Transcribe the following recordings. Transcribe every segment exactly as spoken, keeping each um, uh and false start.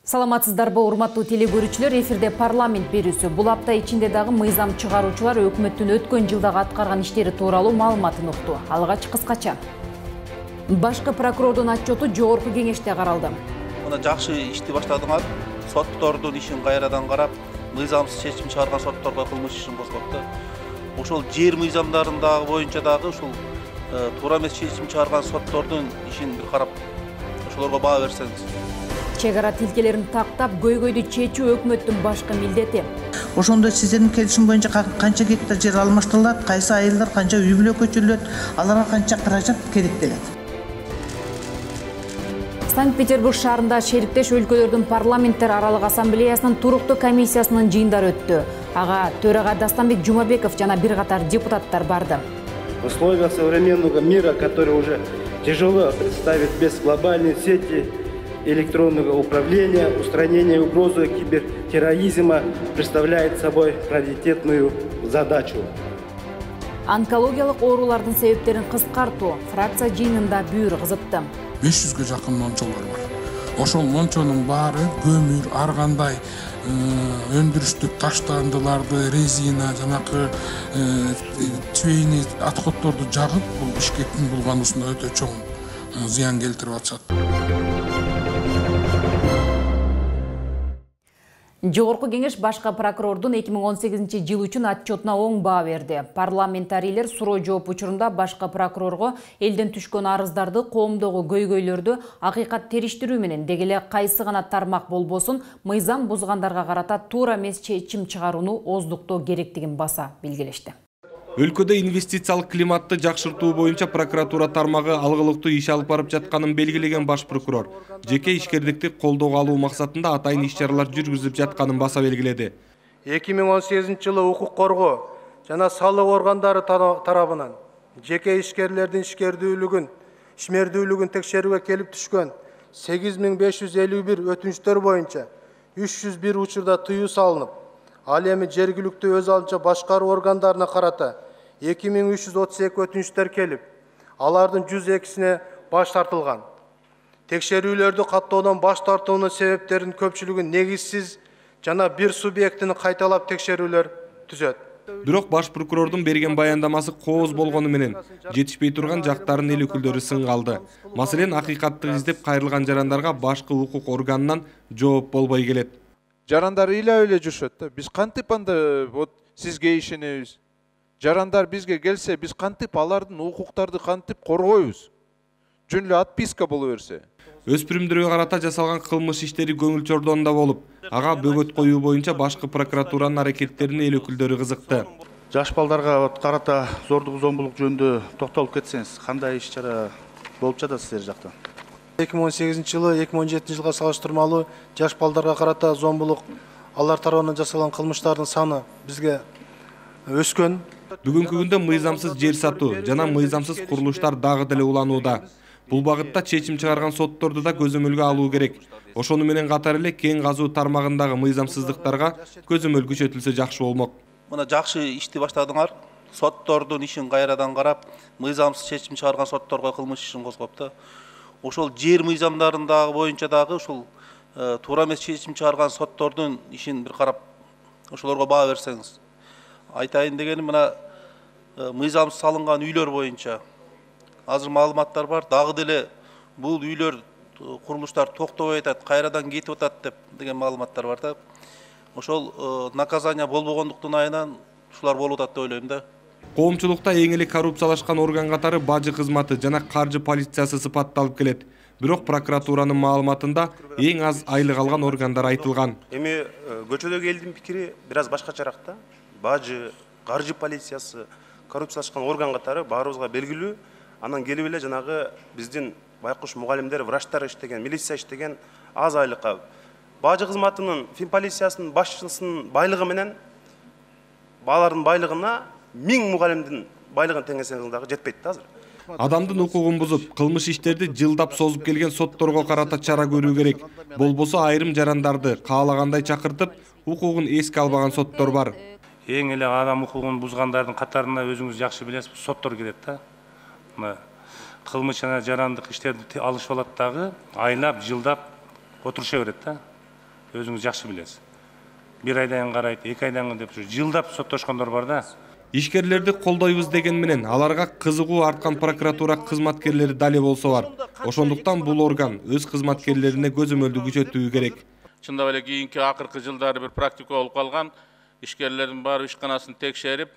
Саламатсыздарбы, урматтуу телегөрүүчүлөр, эфирде парламент берүүсү. Бул апта ичинде дагы мыйзам чыгаруучулар өкмөттүн өткөн жылдагы аткарган иштери тууралуу маалыматын укту. Алгач кыскача. Башкы прокурордун отчету жогорку кеңеште каралды. Мына жакшы ишти баштадыңар. Соттордун ишин кайрадан карап, мыйзамсыз чечим чыгарган сотторго кылмыш ишин козготту. Ошол жер мыйзамдарындагы боюнча дагы ушул туура эмес чечим чыгарган соттордун ишин бир карап, ошолорго баа берсеңиз. Чек ара тилкелерин тактап, көйгөйдү чечүү өкмөттүн башкы милдети. Ошондо сиздердин келишим боюнча канча гектар жер алмаштырылат, кайсы айылдар канча үй бүлө көчүрүлөт, аларга канча каражат керектелет. Санкт-Петербург шаарында шериктеш өлкөлөрдүн парламенттер аралык ассамблеясынын туруктуу комиссиясынын жыйындары өттү. Ага төрага Дастанбек Жумабеков жана бир катар депутаттар барды. В условиях современного мира, который уже тяжело представить без глобальной сети электронного управления, устранение угрозы кибертерроризма представляет собой приоритетную задачу. Онкологиялык оорулардын себептерин кыскартуу фракция жыйынында бүйүр кызытты. беш жүзгө жакын мончолор бар. Ошол мончонун баары көмүр, ар кандай өндүрүштүк таштандыларды, резина, жанакы чейни отходдорду жагып, бул Бишкектин булгануусуна өтө чоң зыян келтирип атышат. Жогорку кеңеш башкы прокурордун эки миң он сегизинчи жыл үчүн отчетуна оң баа берди. Парламентарийлер суроо жооп учурунда башкы прокурорго элден түшкөн арыздарды, коомдогу көйгөйлөрдү акыйкат териштирүү менен деги эле кайсы гана тармак болбосун мыйзам бузгандарга карата туура эмес чечим чыгарууну оздуктоо керектигин баса белгилешти. Өлкөдө инвестициялык климатты жакшыртуу боюнча прокуратура тармагы алгылыктуу иш алып барып жатканын белгилеген баш прокурор жеке ишкердикти колдоого алуу максатында атайын иш-чаралар жүргүзүлүп жатканын баса белгиледи. эки миң он сегизинчи жылы укук коргоо жана салык органдары тарабынан жеке ишкерлердин ишкердүүлүгүн, ишмердүүлүгүн текшерүүгө келип түшкөн сегиз миң беш жүз элүү бир өтүнүчтөр боюнча үч жүз бир учурда тыюу салынып, ал эми жергиликтүү өз алынча башкаруу органдарына карата эки миң үч жүз отуз эки өтүнүчтөр келип, алардын жүз экисине баш тартылган. Текшерүүлөрдү каттоодон баш тартуунун себептеринин көпчүлүгү негизсиз жана бир субъектини кайталап текшерүүлөр түзөт. Бирок баш прокурордун берген баяндамасы кооз болгону менен жетишпей турган жактарын эл өкүлдөрү сынга алды. Маселен, акыйкатты издеп кайрылган жарандарга башкы укук органынан жооп болбой келет. Жарандар ыйлап эле жүрүшөт да. Биз кантип анда вот сизге ишенебиз? Жарандар бизге келсе, биз кантип алардын укуктарды кантип коргойбуз? Жөн эле отписка боло берсе. Өспүрүмдөргө карата жасалган кылмыш иштери көңүл чордонда болуп, ага бөгөт коюу боюнча башкы прокуратуранын аракеттерине эл өкүлдөрү кызыкты. Жаш балдарга карата зордук зомбулук жөнүндө токтолуп кетсеңиз, кандай иш-чара болуп жатат сиздер жакта? эки миң он сегизинчи жылы эки миң он жетинчи жылга салыштырмалуу жаш балдарга карата зомбулук, алар тарабынан жасалган кылмыштардын саны бизге өскөн. Бүгүнкү күндө мыйзамсыз жер сатуу жана мыйзамсыз курулуштар дагы деле уланууда. Бул багытта чечим чыгарган сотторду да көзөмөлгө алуу керек. Ошону менен катар эле кең казуу тармагындагы мыйзамсыздыктарга көзөмөл күчөтүлсө жакшы болмок. Мына жакшы ишти баштадыңар. Соттордун ишин кайрадан карап, мыйзамсыз чечим чыгарган сотторго кылмыш ишин козгопту. Ошол жер мыйзамдарындагы боюнча дагы ушул туура эмес чечим чыгарган соттордун ишин бир карап, ошолорго баа берсеңиз. Айтайын дегеним, мына мыйзамсыз салынган үйлөр боюнча азыр маалыматтар бар. Дагы деле бул үйлөр, курулуштар токтобой атат, кайрадан кетип атат деп деген маалыматтар бар да. Ошол наказание болбогондуктун айынан ушулар болуп атат деп ойлойм да. Коомчулукта эң эле коррупциялашкан орган катары бажы кызматы жана каржы полициясы сыпатталып келет. Бирок прокуратуранын маалыматында эң аз айлык алган органдар айтылган. Эми көчөдөгү элдин пикири бир аз башкачараак да. Бажы, каржы полициясы, коррупциялашкан орган катары баарыбызга белгилүү. Анан келип эле жанагы биздин байкуш мугалимдер, врачтар иштеген, милиция иштеген аз айлыкка. Бажы кызматынын, фин полициясынын башчысынын байлыгы менен баалардын байлыгына миң мугалимдин байлыгын теңесеңиз дагы жетпейт да азыр. Адамдын укугун бузуп, кылмыш иштерди жылдап созуп келген сотторго карата чара көрүү керек. Болбосо айрым жарандарды каалагандай чакыртып, укугун эске албаган соттор бар. Эң эле адам укугун бузгандардын катарына өзүңүз жакшы билесиз, соттор кирет да. Кылмыш жана жарандык иштерди алышып алат дагы, айлап, жылдап отуруша берет да. өзүңүз жакшы билесиз. Бир айдан карайт, эки айдан деп жылдап соттошкондор бар да. Ишкерлерди колдойбуз деген менен аларга кызыгуу арткан прокуратура кызматкерлери дали болсо бар. Ошондуктан бул орган өз кызматкерлерине көзөмөлдү күчөтүү керек. Чындап эле кийинки акыркы жылдары бир практика болуп калган. Ишкерлердин баары ишканасын текшерип,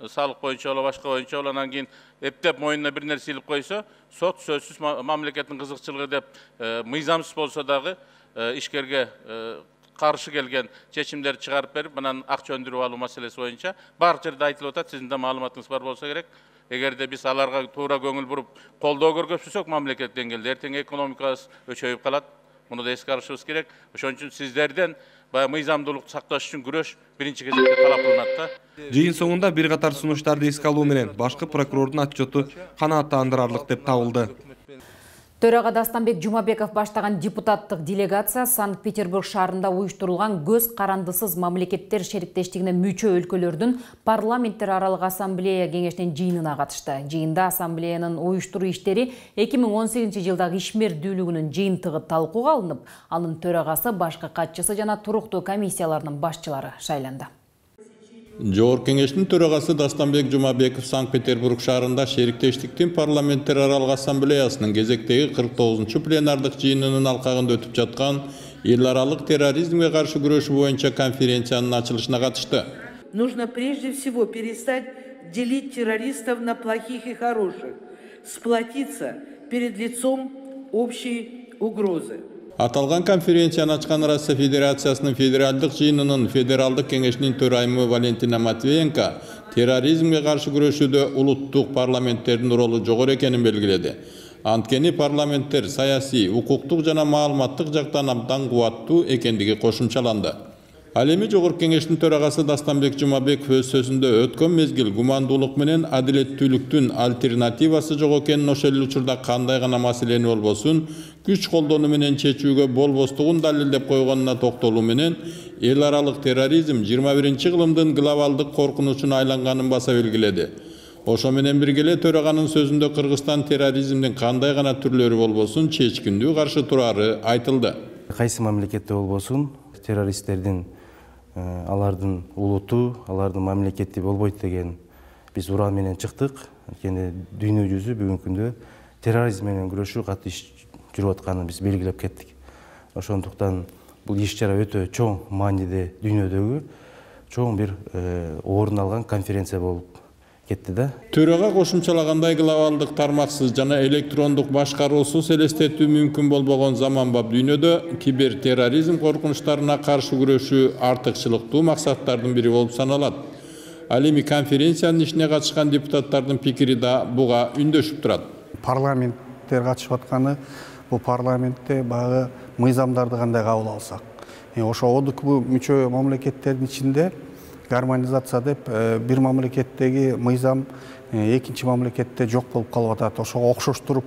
салык боюнча боло, башка боюнча боло, анан кийин эптеп моюнуна бир нерсе илип койсо, сот сөзсүз мамлекеттин кызыкчылыгы деп мыйзамсыз болсо дагы ишкерге каршы келген чечимдерди чыгарып берип, анан акча өндүрүп алуу маселеси боюнча баардык жерде айтылып атат. Сиздин да маалыматыңыз бар болсо керек. Эгерде биз аларга туура көңүл буруп, колдоо көргөзсөк мамлекет деңгээлде эртең экономикабыз өчөйүп калат. Муну да эске алышыбыз керек. Ошон үчүн сиздерден баягы мыйзамдуулукту сакташ үчүн күрөш биринчи кезекте талап кылынат да. Жыйын соңунда бир катар сунуштарды эске алуу менен башкы прокурордун отчету канааттандырарлык деп табылды. Төрага Дастанбек Жумабеков баштаган депутаттык делегация Санкт-Петербург шаарында уюштурулган көз карандысыз мамлекеттер шериктештигине мүчө өлкөлөрдүн парламенттер аралык ассамблея кеңешинин жыйынына катышты. Жыйында ассамблеянын уюштуруу иштери эки миң он сегизинчи жылдагы ишмердүүлүгүнүн жыйынтыгы талкууга алынып, анын төрагасы, башкы катчысы жана туруктуу комиссияларынын башчылары шайланды. Жогорку кеңештин төрагасы Дастанбек Жумабеков Санкт-Петербург шаарында шериктештиктин парламенттер аралык ассамблеясынын кезектеги кырк тогузунчу пленардык жыйынынын алкагында өтүп жаткан эл аралык терроризмге каршы күрөшүү боюнча конференциянын ачылышына катышты. Нужно прежде всего перестать делить террористов на плохих и хороших, сплотиться перед лицом общей угрозы. Аталган конференцияны ачкан Россия Федерациясынын федералдык жыйынынын федералдык кеңешинин төрайымы Валентина Матвеенко терроризмге каршы күрөшүүдө улуттук парламенттердин ролу жогору экенин белгиледи. Анткени парламенттер саясий, укуктук жана маалыматтык жактан абдан кубаттуу экендиги кошумчаланды. Ал эми жогорку кеңештин төрагасы Дастанбек Жумабеков өз сөзүндө өткөн мезгил гумандуулук менен адилеттүүлүктүн альтернативасы жок экенин, ошол эле учурда кандай гана маселени болбосун күч колдонуу менен чечүүгө болбостугун далилдеп койгонуна токтолуу менен эл аралык терроризм жыйырма биринчи кылымдын глобалдык коркунучуна айланганын баса белгиледи. Ошо менен бирге эле төраганын сөзүндө Кыргызстан терроризмдин кандай гана түрлөрү болбосун чечкиндүү каршы турары айтылды. Кайсы мамлекетте болбосун террористтердин алардын улуту, алардын мамлекети болбойт деген биз уран менен чыктык. Анткени дүйнө жүзү бүгүнкү күндө терроризм менен күрөшүү катуу иш жүрүп атканын биз белгилеп кеттик. Ошондуктан бул иш-чара өтө чоң мааниде дүйнөдөгү чоң бир орун алган конференция болуп кетти да. Төрага кошумчалагандай глобалдык тармаксыз жана электрондук башкаруусуз элестетүү мүмкүн болбогон заманбап дүйнөдө кибертерроризм коркунучтарына каршы күрөшүү артыкчылыктуу максаттардын бири болуп саналат. Ал эми конференциянын ишине катышкан депутаттардын пикири да буга үндөшүп турат. Парламенттер катышып атканы, бул парламентте багы мыйзамдарды кандай кабыл алсак. Ошо одк мүчө мамлекеттердин ичинде гармонизация деп бир мамлекеттеги мыйзам экинчи мамлекетте жок болуп калып атат. Ошого окшоштуруп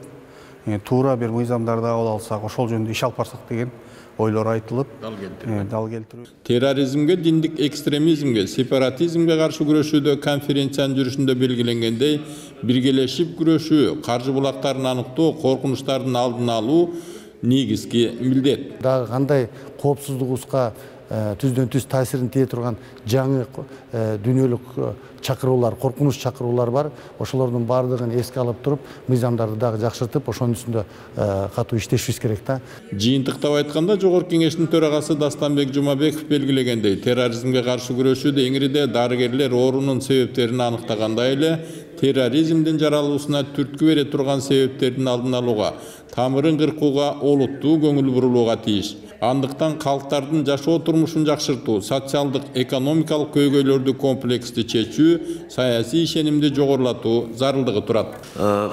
туура бир мыйзамдарды кабыл алсак, ошол жөнүндө иш алып барсак деген ойлор айтылып, дал келтирүү. Терроризмге, диндик экстремизмге, сепаратизмге каршы күрөшүүдө конференциянын жүрүшүндө белгиленгендей, биргелешип күрөшүү, каржы булактарын аныктоо, коркунучтардын алдын алуу негизги милдет. Дагы кандай коопсуздугубузга түздөн түз таасирин тие турган жаңы дүйнөлүк чакыруулар, коркунуч чакыруулар бар. Ошолордун баардыгын эске алып туруп, мыйзамдарды дагы жакшыртып, ошонун үстүндө катуу иштешибиз керек да. Жыйынтыктап айтканда, жогорку кеңештин төрагасы Дастанбек Жумабеков белгилегендей, терроризмге каршы күрөшүүдө эңирде дарыгерлер оорунун себептерин аныктагандай эле, терроризмдин жаралуусуна түрткү бере турган себептердин алдын алууга, тамырын кыркууга олуттуу көңүл бурулууга тийиш. Андыктан калктардын жашоо турмушун жакшыртуу, социалдык, экономикалык көйгөйлөрдү комплекстүү чечүү, саясий ишенимди жогорулатуу зарылдыгы турат.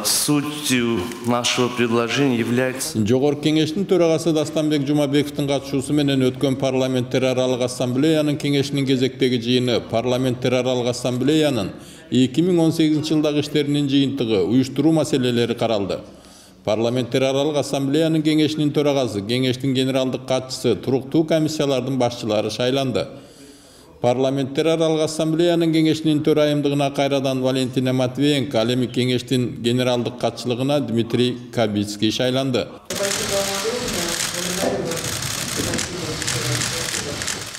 Сутью нашего предложения является... Жогорку кеңештин төрагасы Дастанбек Жумабековдун катышуусу менен өткөн парламенттер аралык ассамблеянын кеңешинин кезектеги жыйыны парламенттер аралык ассамблеянын эки миң он сегизинчи жылдагы иштеринин жыйынтыгы, уюштуруу маселелери каралды. Парламенттер аралык ассамблеянын кеңешинин төрагасы, кеңештин генералдык катчысы, туруктуу комиссиялардын башчылары шайланды. Парламенттер аралык ассамблеянын кеңешинин төрайымдыгына кайрадан Валентина Матвеенко, ал эми кеңештин генералдык катчылыгына Дмитрий Кабицкий шайланды.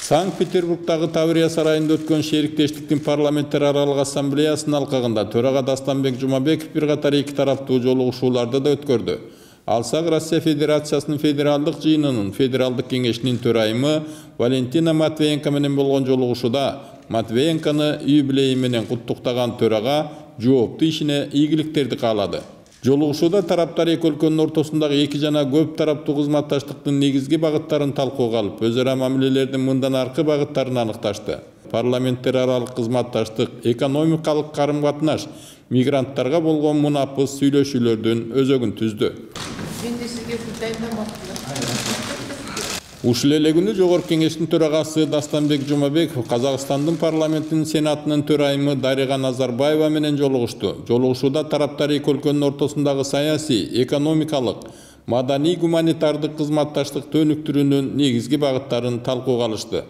Санкт-Петербургдагы Таврия сарайында өткөн шериктештиктин парламенттер аралык ассамблеясынын алкагында төрага Дастанбек Жумабеков бир катар эки тараптуу жолугушууларды да өткөрдү. Алсак Россия Федерациясынын федералдык жыйынынын федералдык кеңешинин төрайымы Валентина Матвеенко менен болгон жолугушууда Матвеенконы юбилейи менен куттуктаган төрага жооптуу ишине ийгиликтерди каалады. Жолугушууда тараптар эки өлкөнүн ортосундагы эки жана көп тараптуу кызматташтыктын негизги багыттарын талкууга алып, өз ара мамилелердин мындан аркы багыттарын аныкташты. Парламенттер аралык кызматташтык, экономикалык карым-катнаш, мигранттарга болгон мунапыс сүйлөшүүлөрдүн өзөгүн түздү. Ушул эле күнү Жогорку Кеңештин төрагасы Дастанбек Жумабеков Казакстандын парламентинин сенатынын төрайымы Дарига Назарбаева менен жолугушту. Жолугушууда тараптар эки өлкөнүн ортосундагы саясий, экономикалык, маданий гуманитардык кызматташтыкты өнүктүрүүнүн негизги багыттарын талкууга алышты.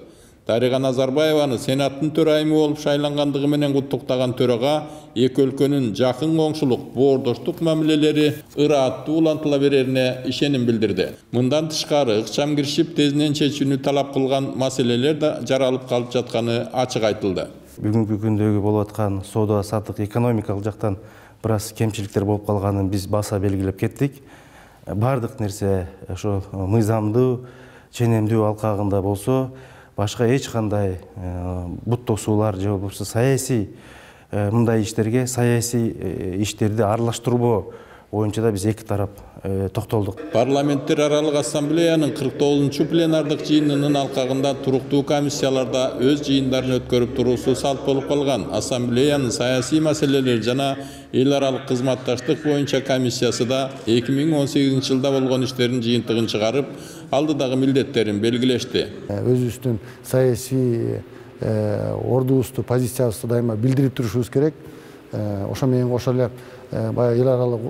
Дарига Назарбаеваны сенаттын төрайымы болуп шайлангандыгы менен куттуктаган төрага эки өлкөнүн жакын коңшулук, боордоштук мамилелери ырааттуу улантыла берерине ишеним билдирди. Мындан тышкары ыкчам киришип тезинен чечүүнү талап кылган маселелер да жаралып калып жатканы ачык айтылды. Бүгүнкү күндөгү болуп аткан соода саттык экономикалык жактан бир аз кемчиликтер болуп калганын биз баса белгилеп кеттик. Бардык нерсе ошо мыйзамдуу, ченемдүү алкагында болсо, башка эч кандай бут тосуулар же болбосо саясий мындай иштерге саясий иштерди аралаштырбоо боюнча да биз эки тарап токтолдук. Парламенттер аралык ассамблеянын кырк тогузунчу пленардык жыйынынын алкагында туруктуу комиссияларда өз жыйындарын өткөрүп туруусу салт болуп калган. Ассамблеянын саясий маселелер жана эл аралык кызматташтык боюнча комиссиясы да эки миң он сегизинчи жылда болгон иштердин жыйынтыгын чыгарып, алдыдагы милдеттерин белгилешти. Өзүбүздүн саясий ордубузду, позициябызды дайыма билдирип турушубуз керек. Ошо менен кошо эле баягы эл аралык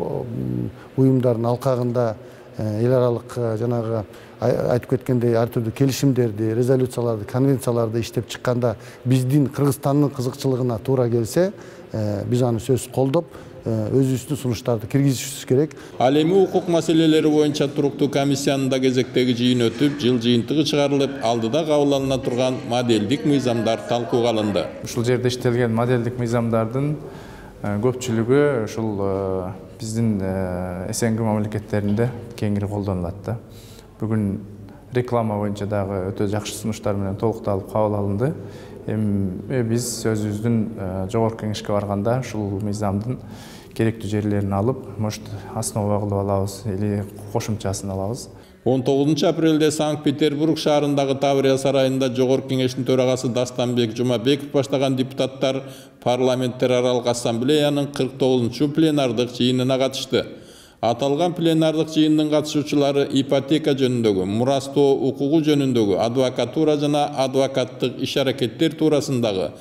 уюмдардын алкагында эл аралык жанагы айтып кеткендей ар түрдүү келишимдерди, резолюцияларды, конвенцияларды иштеп чыкканда биздин Кыргызстандын кызыкчылыгына туура келсе, биз аны сөзсүз колдоп, өзүбүздүн сунуштарды киргизишибиз керек. Ал эми укук маселелери боюнча туруктуу комиссиянын да кезектеги жыйыны өтүп, жыл жыйынтыгы чыгарылып, алдыда кабыл алына турган моделдик мыйзамдар талкууга алынды. Ушул жерде иштелген моделдик мыйзамдардын көпчүлүгү ушул биздин СНГ мамлекеттеринде кеңири колдонулат да. Бүгүн реклама боюнча дагы өтө жакшы сунуштар менен толукталып кабыл алынды. Эми биз өзүбүздүн жогорку кеңешке барганда ушул мыйзамдын керектүү жерлерин алып, может основа кылып алабыз или кошумчасын алабыз. он тогузунчу апрелде Санкт-Петербург шаарындагы Таврия сарайында Жогорку Кеңештин төрагасы Дастанбек Жумабеков баштаган депутаттар парламенттер аралык ассамблеянын кырк тогузунчу пленардык жыйынына катышты. Аталган пленардык жыйындын катышуучулары ипотека жөнүндөгү, мурастоо укугу жөнүндөгү, адвокатура жана адвокаттык иш-аракеттер туурасындагы,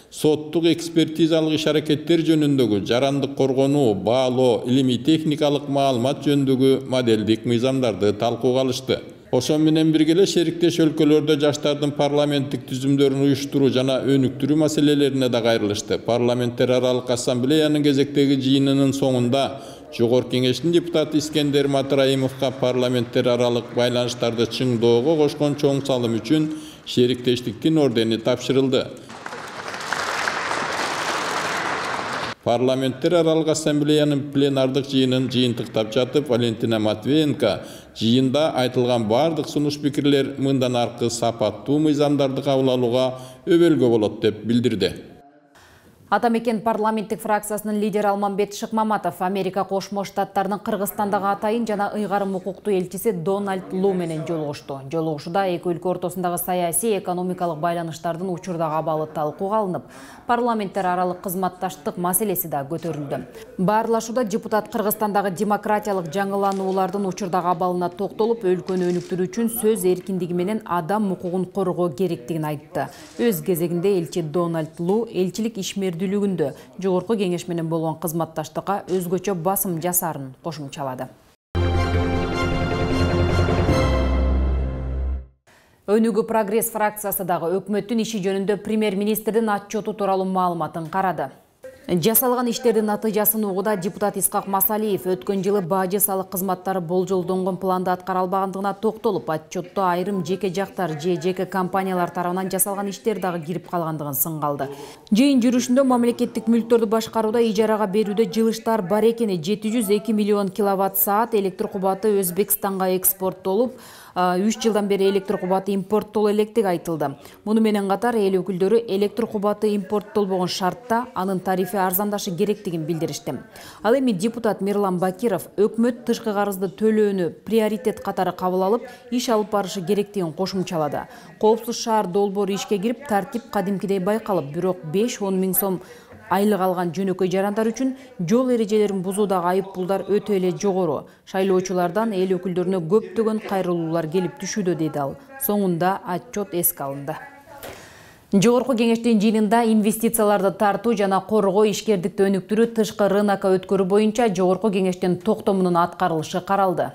соттук экспертизалык иш-аракеттер жөнүндөгү, жарандык коргонуу, баалоо, илимий техникалык маалымат жөнүндөгү моделдик мыйзамдарды талкууга алышты. Ошо менен бирге эле шериктеш өлкөлөрдө жаштардын парламенттик түзүмдөрүн уюштуруу жана өнүктүрүү маселелерине да кайрылышты. Парламенттер аралык ассамблеянын кезектеги жыйынынын соңунда Жогорку Кеңештин депутаты Искендер Матраимовго парламенттер аралык байланыштарды чыңдоого кошкон чоң салым үчүн шериктештиктин ордени тапшырылды. Парламенттер аралык ассамблеянын пленардык жыйынын жыйынтыктап жатып, Валентина Матвеенко жыйында айтылган бардык сунуш пикирлер мындан аркы сапаттуу мыйзамдарды кабыл алууга өбөлгө болот деп билдирди. Атамекен парламенттик фракциясынын лидери Алмамбет Шыкмаматов Америка Кошмо Штаттарынын Кыргызстандагы атайын жана ыйгарым укуктуу элчиси Дональд Лу менен жолугушту. Жолугушууда эки өлкө ортосундагы саясий, экономикалык байланыштардын учурдагы абалы талкууга алынып, парламенттер аралык кызматташтык маселеси да көтөрүлдү. Баарлашууда депутат Кыргызстандагы демократиялык жаңылануулардын учурдагы абалына токтолуп, өлкөнү өнүктүрүү үчүн сөз эркиндиги менен адам укугун коргоо керектигин айтты. Өз кезегинде элчи Дональд Лу элчилик ишмер дүлүгүндө жогорку кеңеш менен болгон кызматташтыкка өзгөчө басым жасарын кошумчалады. Өнүгүү прогресс фракциясы дагы өкмөттүн иши жөнүндө премьер-министрдин отчету тууралуу маалыматын карады. Жасалган иштердин натыйжасын угууда депутат Исхак Масалиев өткөн жылы бажы салык кызматтары болжолдонгон планда аткара албагандыгына токтолуп, отчетто айрым жеке жактар же жеке компаниялар тарабынан жасалган иштер дагы кирип калгандыгын сынга алды. Жыйын жүрүшүндө мамлекеттик мүлктөрдү башкарууда ижарага берүүдө жылыштар бар экени, жети жүз эки миллион киловатт саат электр кубаты Өзбекстанга экспорттолуп, үч жылдан бери электр кубаты импорттоло электиги айтылды. Муну менен катар эл өкүлдөрү электр кубаты импорттолбогон шартта анын тарифи арзандашы керектигин билдиришти. Ал эми депутат Мирлан Бакиров өкмөт тышкы карызды төлөөнү приоритет катары кабыл алып, иш алып барышы керектигин кошумчалады. Коопсуз шаар долбоору ишке кирип, тартип кадимкидей байкалып, бирок беш он миң сом айлык алган жөнөкөй жарандар үчүн жол эрежелерин бузуудагы айып пулдар өтө эле жогору. Шайлоочулардан эл өкүлдөрүнө көптөгөн кайрылуулар келип түшүүдө, деди ал. Соңунда отчет эске алынды. Жогорку кеңештин жыйынында инвестицияларды тартуу жана коргоо, ишкердикти өнүктүрүү, тышкы рынокко өткөрүү боюнча жогорку кеңештин токтомунун аткарылышы каралды.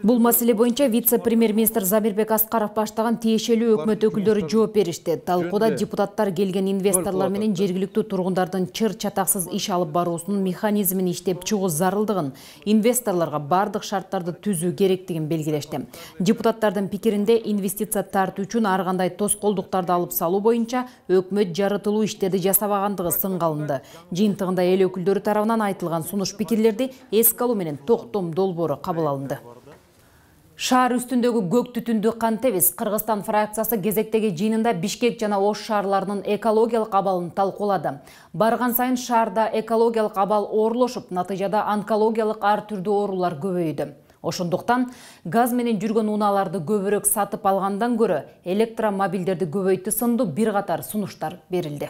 Бул маселе боюнча вице-премьер-министр Замирбек Аскаров баштаган тиешелүү өкмөт өкүлдөрү жооп беришти. Талкууда депутаттар келген инвесторлор менен жергиликтүү тургундардын чыр чатаксыз иш алып баруусунун механизмин иштеп чыгуу зарылдыгын, инвесторлорго бардык шарттарды түзүү керектигин белгилешти. Депутаттардын пикиринде инвестиция тартуу үчүн ар кандай тоскоолдуктарды алып салуу боюнча өкмөт жарытылуу иштерди жасабагандыгы сынга алынды. Жыйынтыгында эл өкүлдөрү тарабынан айтылган сунуш пикирлерди эске алуу менен токтом долбоору кабыл алынды. Шаар үстүндөгү көк түтүндү кантебиз? Кыргызстан фракциясы кезектеги жыйынында Бишкек жана Ош шаарларынын экологиялык абалын талкуулады. Барган сайын шаарда экологиялык абал оорлошуп, натыйжада онкологиялык ар түрдүү оорулар көбөйдү. Ошондуктан газ менен жүргөн унааларды көбүрөөк сатып алгандан көрө электромобилдерди көбөйтүү сындуу бир катар сунуштар берилди.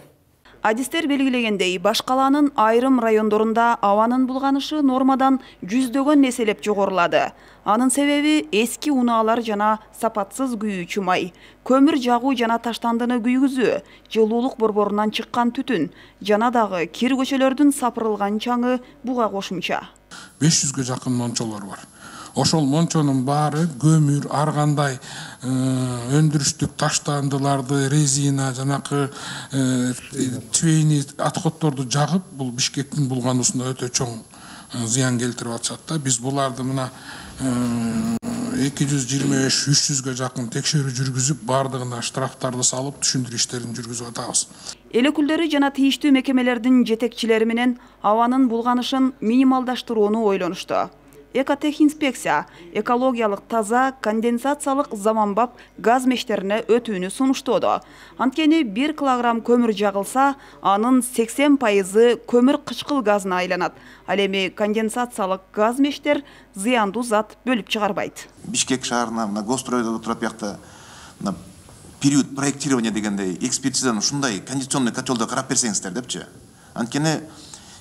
Адистер белгилегендей, баш калаанын айрым райондорунда абанын булганышы нормадан жүздөгөн эселеп жогорулады. Анын себеби эски унаалар жана сапатсыз күйүүчү май, көмүр жагуу жана таштандыны күйгүзүү, жылуулук борборунан чыккан түтүн жана дагы кир көчөлөрдүн сапырылган чаңы буга кошумча. беш жүзгө жакын мончолор бар. Ошол мончонун баары көмүр, ар кандай өндүрүштүк таштандыларды, резина, жанакы чвейни отходдорду жагып, бул Бишкектин булгануусуна өтө чоң зыян келтирип атышат да. Биз буларды мына эки жүз жыйырма беш үч жүзгө жакын текшерүү жүргүзүп, бардыгына штрафтарды салып, түшүндүрүү иштерин жүргүзүп атабыз. Эл өкүлдөрү жана тийиштүү мекемелердин жетекчилери менен абанын булганышын минималдаштырууну ойлонушту. Экотехинспекция экологиялык таза конденсациялык заманбап газ мештерине өтүүнү сунуштоодо. Анткени бир килограмм көмүр жагылса, анын сексен пайызы көмүр кычкыл газына айланат. Ал эми конденсациялык газ мештер зыяндуу зат бөлүп чыгарбайт. Бишкек шаарына мына гостройдо турат биякта мына период проектирования дегендей экспертизаны ушундай кондиционный котелдо карап берсеңиздер депчи. Анткени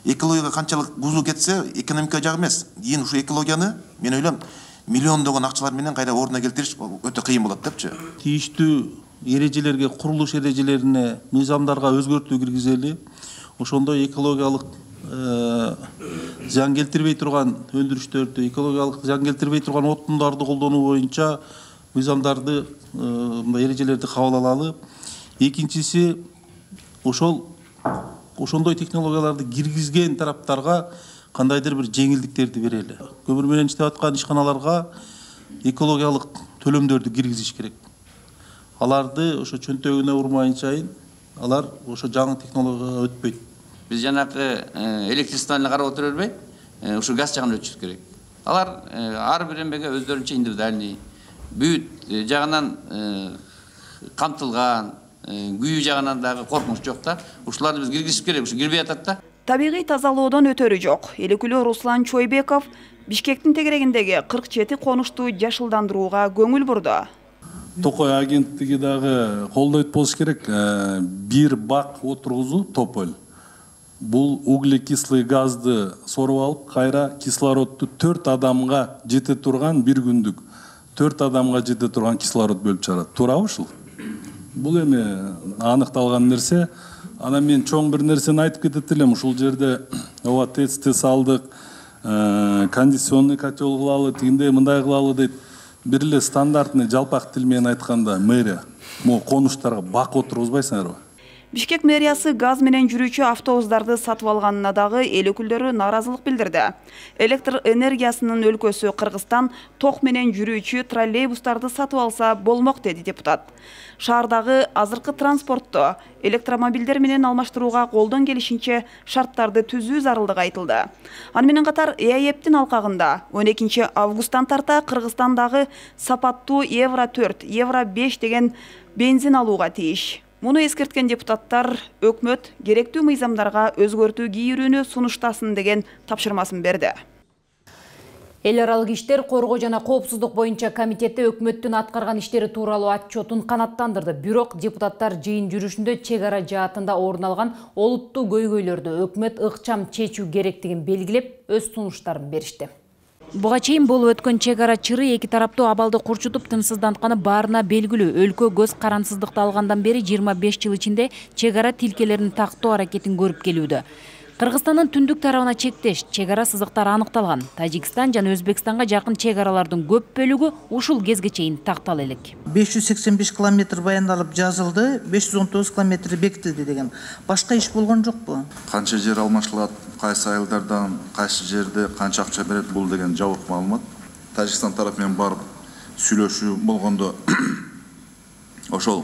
экологияга канчалык бузуу кетсе, экономика жагы эмес. Кийин ушу экологияны мен ойлойм миллиондогон акчалар менен кайра ордуна келтириш өтө кыйын болот депчи. Тийиштүү эрежелерге, курулуш эрежелерине, мыйзамдарга өзгөртүү киргизели. Ошондой экологиялык зыян келтирбей турган өндүрүштөрдү, экологиялык зыян келтирбей турган отундарды колдонуу боюнча мыйзамдарды, эрежелерди кабыл алалы. Экинчиси, ошол ошондой технологияларды киргизген тараптарга кандайдыр бир жеңилдиктерди берели. Көмүр менен иштеп аткан ишканаларга экологиялык төлөмдөрдү киргизиш керек. Аларды ошо чөнтөгүнө урмайынчайын, алар ошо жаңы технологияга өтпөйт. Биз жанакы электричествоны карап отура бербей, ушу газ жагына өтүшүбүз керек. Алар ар бир эмеге өздөрүнчө индивидуальный, бүт жагынан камтылган, күйүү жагынан дагы коркунуч жок да. Ушуларды биз киргизип керек, ушу кирбей атат да. Табигый тазалоодон өтөрү жок. Эл өкүлү Руслан Чойбеков Бишкектин тегерегиндеги кырк жети конушту жашылдандырууга көңүл бурду. Токой агенттиги дагы колдойт болуш керек. Бир бак отургузуу тополь. Бул углекислый газды соруп алып, кайра кислородду төрт адамга жете турган бир күндүк, төрт адамга жете турган кислород бөлүп чыгарат. Туурабы ушул? Бул эми аныкталган нерсе. Анан мен чоң бир нерсени айтып кетет элем. Ушул жерде ооба тестти салдык, кондиционный котел кылалы, тигиндей мындай кылалы дейт. Бир эле стандартный жалпак тил менен айтканда мэрия могу конуштарга бак отургузбайсыңарбы? Бишкек мэриясы газ менен жүрүүчү автобустарды сатып алганына дагы эл өкүлдөрү нааразылык билдирди. Электр энергиясынын өлкөсү Кыргызстан ток менен жүрүүчү троллейбустарды сатып алса болмок, деди депутат. Шаардагы азыркы транспортту электромобилдер менен алмаштырууга колдон келишинче шарттарды түзүү зарылдыгы айтылды. Аны менен катар ЭАЭПтин алкагында он экинчи августтан тарта Кыргызстандагы сапаттуу евро төрт, евро беш деген бензин алууга тийиш. Муну эскерткен депутаттар өкмөт керектүү мыйзамдарга өзгөртүү кийирүүнү сунуштасын деген тапшырмасын берди. Эл аралык иштер, коргоо жана коопсуздук боюнча комитети өкмөттүн аткарган иштери тууралуу отчетун канаттандырды. Бирок депутаттар жыйын жүрүшүндө чек ара жаатында орун алган олуттуу көйгөйлөрдү өкмөт ыкчам чечүү керектигин белгилеп, өз сунуштарын беришти. Буга чейин болуп өткөн чек ара чыры эки тараптуу абалды курчутуп тынчсыздантканы баарына белгилүү. Өлкө көз карансыздыкты алгандан бери жыйырма беш жыл ичинде чек ара тилкелерин тактоо аракетин көрүп келүүдө. Кыргызстандын түндүк тарабына чектеш чек ара сызыктары аныкталган. Тажикстан жана Өзбекстанга жакын чек аралардын көп бөлүгү ушул кезге чейин тактала элек. беш жүз сексен беш километр баяндалып жазылды, беш жүз он тогуз километр бекитилди деген. Башка иш болгон жокпу? Канча жер алмашылат, кайсы айылдардан, кайсы жерде канча акча берет, бул деген жабык маалымат. Тажикстан тарапы менен барып сүйлөшүү болгондо ошол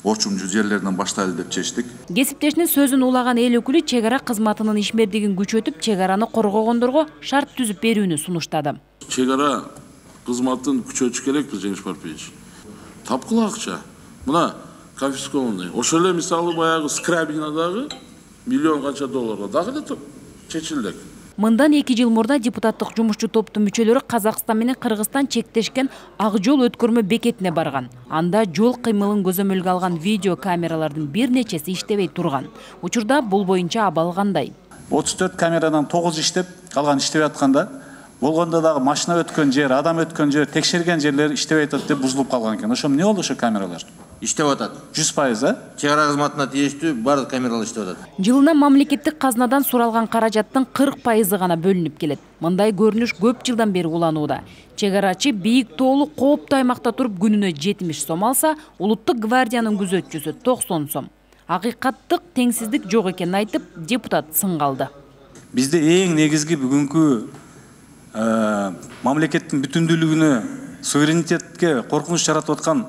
орчумчу жерлерден баштайлы деп чечтик. Кесиптешинин сөзүн улаган эл өкүлү чек ара кызматынын ишмердигин күчөтүп, чек араны коргогондорго шарт түзүп берүүнү сунуштады. Чек ара кызматын күчөтүш керекпиз, Жеңиш Парпиевич. Тапкыла акча. Мына конфискованный. Ошол эле мисалы баягы Скрабинадагы миллион канча долларга дагы эле чечилди. Мындан эки жыл мурда депутаттык жумушчу топтун мүчөлөрү Казакстан менен Кыргызстан чектешкен ак жол өткөрмө бекетине барган. Анда жол кыймылын көзөмөлгө алган видео камералардын бир нечеси иштебей турган. Учурда бул боюнча абал кандай? отуз төрт камерадан тогуз иштеп, калган иштебей атканда, болгондо дагы машина өткөн жер, адам өткөн жер, текшерген жерлер иштебей атат деп бузулуп калган экен. Ошо эмне болду ошо камералар? Иштеп атат. жүз пайыз, а? Чек ара кызматына тийиштүү баардык камералар иштеп атат. Жылына мамлекеттик казнадан суралган каражаттын кырк пайызы гана бөлүнүп келет. Мындай көрүнүш көп жылдан бери уланууда. Чек арачы бийик тоолуу кооптуу аймакта туруп күнүнө жетимиш сом алса, улуттук гвардиянын күзөтчүсү токсон сом. Акыйкаттык теңсиздик жок экенин айтып, депутат сын калды. Бизде эң негизги бүгүнкү мамлекеттин бүтүндүүлүгүнө, суверенитетке коркунуч жаратып аткан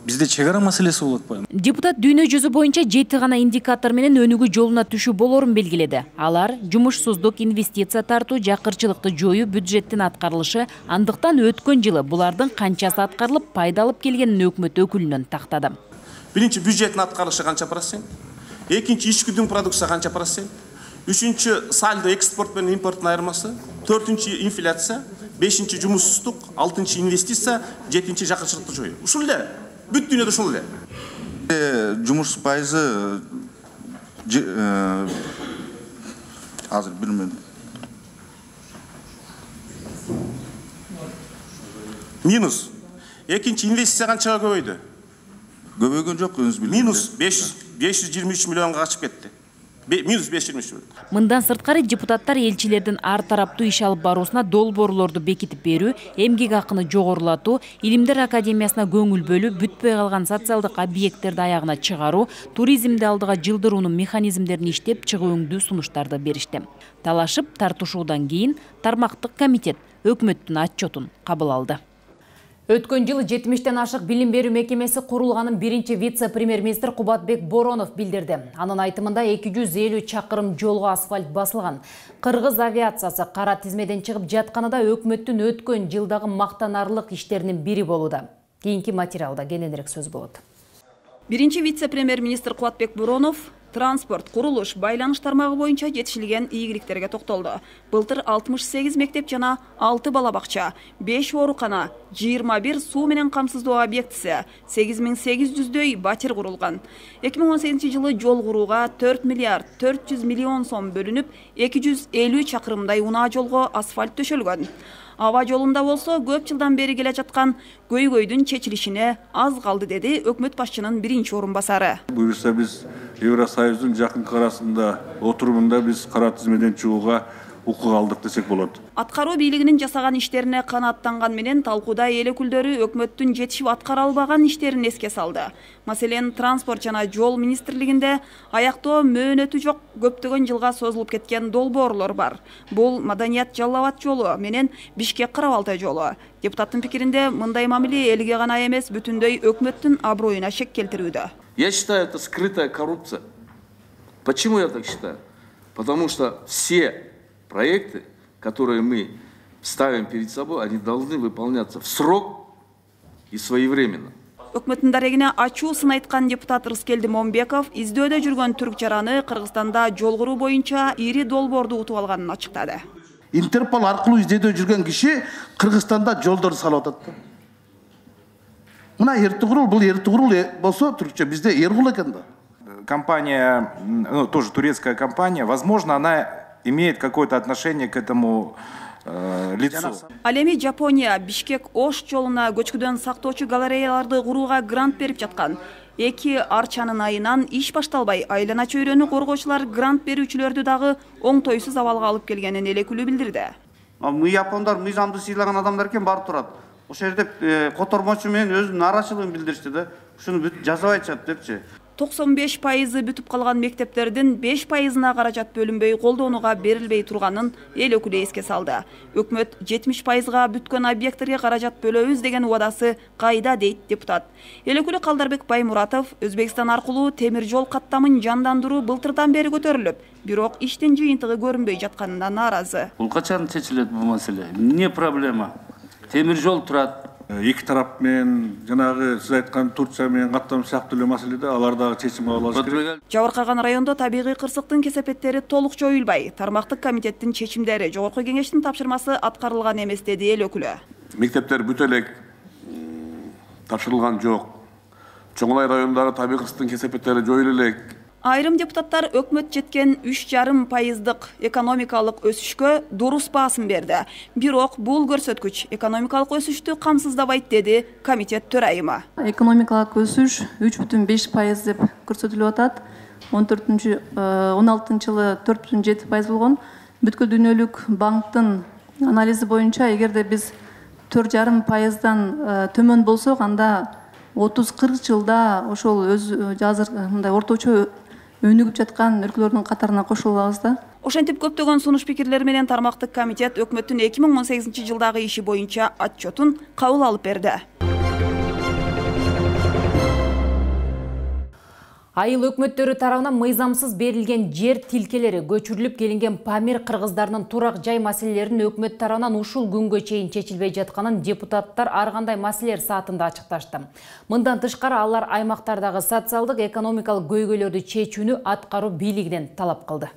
бизде чек ара маселеси болуп атпайбы? Депутат дүйнө жүзү боюнча жети гана индикатор менен өнүгүү жолуна түшүү болорун белгиледи. Алар жумушсуздук, инвестиция тартуу, жакырчылыкты жоюу, бюджеттин аткарылышы, андыктан өткөн жылы булардын канчасы аткарылып, пайда алып келгенин өкмөт өкүлүнөн тактады. Биринчи бюджеттин аткарылышы канча процент? Экинчи ички дүң продукция канча процент? Үчүнчү сальдо экспорт менен импорттун айырмасы, төртүнчү инфляция, бешинчи жумушсуздук, алтынчы инвестиция, жетинчи жакырчылыкты жоюу. Ушул эле. Бүт дүйнөдө ушул эле. Жумуш пайызы азыр билмейм. Минус. Экинчи инвестиция канчага көбөйдү? Көбөйгөн жок, өзүңүз билесиз. Минус беш жүз жыйырма үч миллионго качып кетти. Минус беш жүз жыйырма үч миллион. Мындан сырткары депутаттар элчилердин ар тараптуу иш алып баруусуна долбоорлорду бекитип берүү, эмгек акыны жогорулатуу, Илимдер академиясына көңүл бөлүү, бүтпөй калган социалдык объекттерди аягына чыгаруу, туризмди алдыга жылдыруунун механизмдерин иштеп чыгуу өңдүү сунуштарды беришти. Талашып тартышуудан кийин тармактык комитет өкмөттүн отчетун кабыл алды. Өткөн жылы жетимиштен ашык билим берүү мекемеси курулганын биринчи вице-премьер-министр Кубатбек Боронов билдирди. Анын айтымында эки жүз элүү чакырым жолго асфальт басылган. Кыргыз авиациясы кара тизмеден чыгып жатканында өкмөттүн өткөн жылдагы мактанарлык иштеринин бири болууда. Кийинки материалда кененирээк сөз болот. Биринчи вице-премьер-министр Кубатбек Боронов транспорт, курулуш, байланыш тармагы боюнча жетишилген ийгиликтерге токтолду. Былтыр алтымыш сегиз мектеп жана алты бала бакча, беш оорукана, жыйырма бир суу менен камсыздоо объектиси, сегиз миң сегиз жүздөй батир курулган. эки миң он сегизинчи жылы жол курууга төрт миллиард төрт жүз миллион сом бөлүнүп, эки жүз элүү чакырымдай унаа жолго асфальт төшөлгөн. Аба жолунда болсо көп жылдан бери келе жаткан көйгөйдүн чечилишине аз калды, деди өкмөт башчынын биринчи орун басары. Буюрса биз Евросоюздун жакынкы арасында отурумунда биз кара тизмеден чыгууга укук алдык десек болот. Аткаруу бийлигинин жасаган иштерине канааттанган менен талкууда эл өкүлдөрү өкмөттүн жетишип аткара албаган иштерин эске салды. Маселен, транспорт жана жол министрлигинде аяктоо мөөнөтү жок көптөгөн жылга созулуп кеткен долбоорлор бар. Бул Маданият Жалал-Абад жолу менен Бишкек-Карабалта жолу. Депутаттын пикиринде мындай мамиле элге гана эмес, бүтүндөй өкмөттүн аброюна шек келтирүүдө. Я считаю, это скрытая коррупция. Почему я так считаю? Потому что все проекты, которые мы ставим перед собой, они должны выполняться в срок и своевременно. Өкмөттүн дарегине ачуу сын айткан депутат Рыскелди Момбеков издөөдө жүргөн түрк жараны Кыргызстанда жол куруу боюнча ири долбоорду утуп алганын ачыктады. Интерпол аркылуу издөөдө жүргөн киши Кыргызстанда жолдорду салып атат. Мына Эртугрул, бул Эртугрул болсо түркчө бизде Эргул экен да. Компания, ну, тоже турецкая компания, возможно, она имеет какое-то отношение к этому э, лицу. Ал эми Жапония Бишкек-Ош жолуна көчкүдөн сактоочу галереяларды курууга грант берип жаткан. Эки арчанын айынан иш башталбай, айлана чөйрөнү коргоочулар грант берүүчүлөрдү дагы оңтойсуз абалга алып келгенин эл өкүлү билдирди. Мы япондар мыйзамды сыйлаган адамдар экен барып турат. Ошол жерде котормочу менен өзүнүн нааразычылыгын билдиришти да. Ушуну бүт жазабай чат депчи. токсон беш пайызы бүтүп калган мектептердин беш пайызына каражат бөлүнбөй колдонууга берилбей турганын эл өкүлү эске салды. Өкмөт жетимиш пайызга бүткөн объекттерге каражат бөлөбүз деген убадасы кайда дейт депутат. Эл өкүлү Калдарбек Баймуратов Өзбекстан аркылуу темир жол каттамын жандандыруу былтырдан бери көтөрүлүп, бирок иштин жыйынтыгы көрүнбөй жатканына нааразы. Бул качан чечилет бул маселе? Эмне проблема? Темир жол турат. Эки тарап менен жанагы сиз айткан Турция менен каттам сыяктуу эле маселеде алар дагы чечим алыш керек. Жабыркаган райондо табигый кырсыктын кесепеттери толук жоюлбай, тармактык комитеттин чечимдери, жогорку кеңештин тапшырмасы аткарылган эмес деди эл өкүлү. Мектептер бүт элек тапшырылган жок. Чоңлай районундагы табигый кырсыктын кесепеттери жоюла элек. Айрым депутаттар өкмөт жеткен үч жарым пайыздык экономикалык өсүшкө дурус баасын берди. Бирок бул көрсөткүч экономикалык өсүштү камсыздабайт деди комитет төрайымы. Экономикалык өсүш үч бүтүн беш пайыз деп көрсөтүлүп атат. он төртүнчү он алтынчы жылы төрт бүтүн жети пайыз болгон. Бүткүл дүйнөлүк банктын анализи боюнча эгерде биз төрт жарым пайыздан төмөн болсок, анда отуз кырк жылда ошол өз азыр мындай орточо өнүгүп жаткан өлкөлөрдүн катарына кошулуп алабыз да. Ошентип көптөгөн сунуш пикирлер менен тармактык комитет өкмөттүн эки миң он сегизинчи жылдагы иши боюнча отчетун кабыл алып берди. Айыл өкмөттөрү тарабынан мыйзамсыз берилген жер тилкелери, көчүрүлүп келинген Памир кыргыздарынын турак жай маселелерин өкмөт тарабынан ушул күнгө чейин чечилбей жатканын депутаттар ар кандай маселелер саатында ачыкташты. Мындан тышкары алар аймактардагы социалдык, экономикалык көйгөйлөрдү чечүүнү аткаруу бийлигинен талап кылды.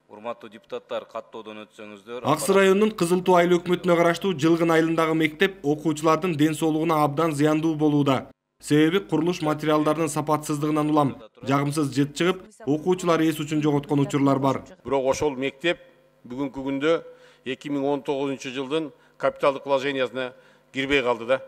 Урматтуу депутаттар, каттоодон өтсөңүздөр. Ак Суу районунун Кызыл Туу айыл өкмөтүнө караштуу Жылгын айылындагы мектеп окуучулардын ден соолугуна абдан зыяндуу болууда. Себеби курулуш материалдарынын сапатсыздыгынан улам жагымсыз жыт чыгып, окуучулар эс учун жоготкон учурлар бар. Бирок ошол мектеп бүгүнкү күндө эки миң он тогузунчу жылдын капиталдык вложениясына кирбей калды да.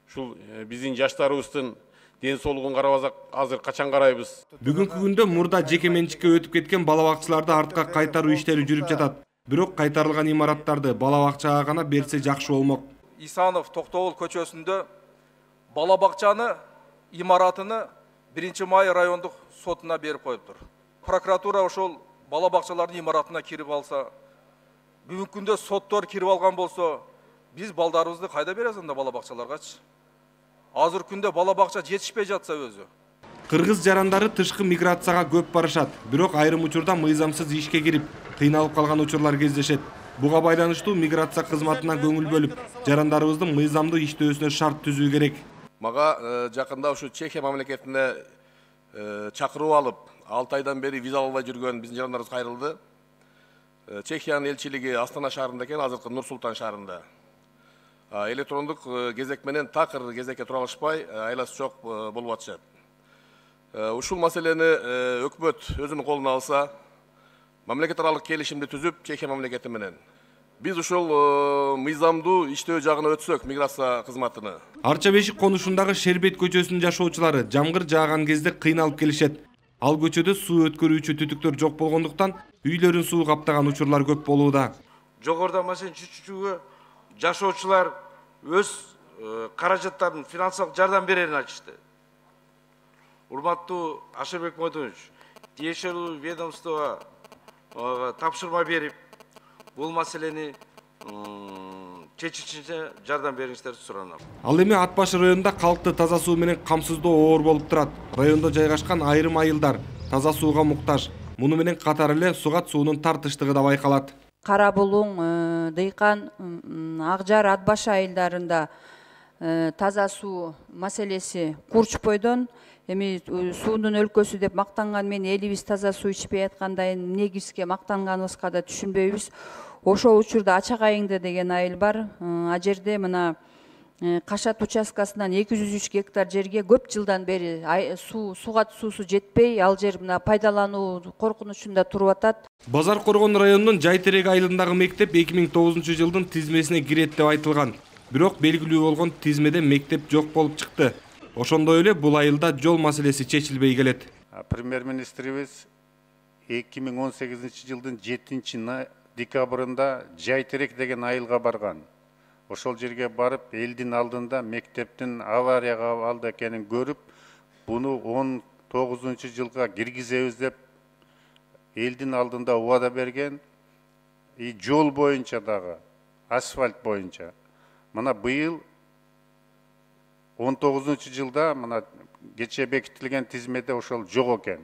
Ушул биздин жаштарыбыздын ден соолугун карабасак, азыр качан карайбыз? Бүгүнкү күндө мурда жеке менчикке өтүп кеткен бала бакчаларды артка кайтаруу иштери жүрүп жатат. Бирок кайтарылган имараттарды бала бакчага гана берсе жакшы болмок. Исанов Токтогул көчөсүндө бала бакчаны имаратыны биринчи май райондук сотуна берип коюптур. Прокуратура ошол бала бакчалардын имаратына кирип алса, бүгүнкү күндө соттор кирип алган болсо, биз балдарыбызды кайда беребиз анда бала бакчаларгачы? Азыр күндө бала бакча жетишпей жатса өзү. Кыргыз жарандары тышкы миграцияга көп барышат, бирок айрым учурда мыйзамсыз ишке кирип, кыйналып калган учурлар кездешет. Буга байланыштуу миграция кызматына көңүл бөлүп, жарандарыбыздын мыйзамдуу иштөөсүнө шарт түзүү керек. Мага жакында ушу Чехия мамлекетине чакыруу алып, алты айдан бери виза албай жүргөн биздин жарандарыбыз кайрылды. Чехиянын элчилиги Астана шаарында экен, азыркы Нур Султан шаарында. Электрондук кезек менен такыр кезекке тура алышпай, айласы жок болуп атышат. Ушул маселени өкмөт өзүнүн колуна алса, мамлекет аралык келишимди түзүп, Чехия мамлекети менен биз ушул мыйзамдуу иштөө жагына өтсөк, миграция кызматыны. Арча Бешик конушундагы Шербет көчөсүнүн жашоочулары жамгыр жааган кезде кыйналып келишет. Ал көчөдө суу өткөрүүчү түтүктөр жок болгондуктан үйлөрүн суу каптаган учурлар көп болууда. жогоруда маселени чечүүгө жашоочулар өз каражаттарын финансылык жардам берерин айтышты. Урматтуу Ашырбек Мойдонович, тиешелүү ведомствого тапшырма берип, бул маселени чечишине жардам бериңиздерди суранам. Ал эми Ат башы районунда калкты таза суу менен камсыздоо оор болуп турат. Райондо жайгашкан айрым айылдар таза сууга муктаж. Муну менен катар эле сугат суунун тартыштыгы да байкалат. Кара Булуң, Дыйкан, Акжар, Ат башы айылдарында таза суу маселеси курч бойдон эми суунун өлкөсү деп мактанган мен элибиз таза суу ичпей аткандай негизге мактанганыбызга да түшүнбөйбүз. Ошол учурда Ачак Айыңды деген айыл бар. А жерде мына Кашат участкасынан эки жүз үч гектар жерге көп жылдан бери суу сугат суусу жетпей, ал жер мына пайдалануу коркунучунда туруп атат. Базар Коргон районунун Жайтерек айылындагы мектеп эки миң тогузунчу жылдын тизмесине кирет деп айтылган. Бирок белгилүү болгон тизмеде мектеп жок болуп чыкты. Ошондой эле бул айылда жол маселеси чечилбей келет. Премьер-министрибиз эки миң он сегизинчи жылдын жетинчи декабрында Жайтерек деген айылга барган. Ошол жерге барып, элдин алдында мектептин аварияга абалда экенин көрүп, буну он тогузунчу жылга киргизебиз деп элдин алдында убада берген. И жол боюнча дагы, асфальт боюнча. Мына быйыл он тогузунчу жылда мына кече бекитилген тизмеде ошол жок экен.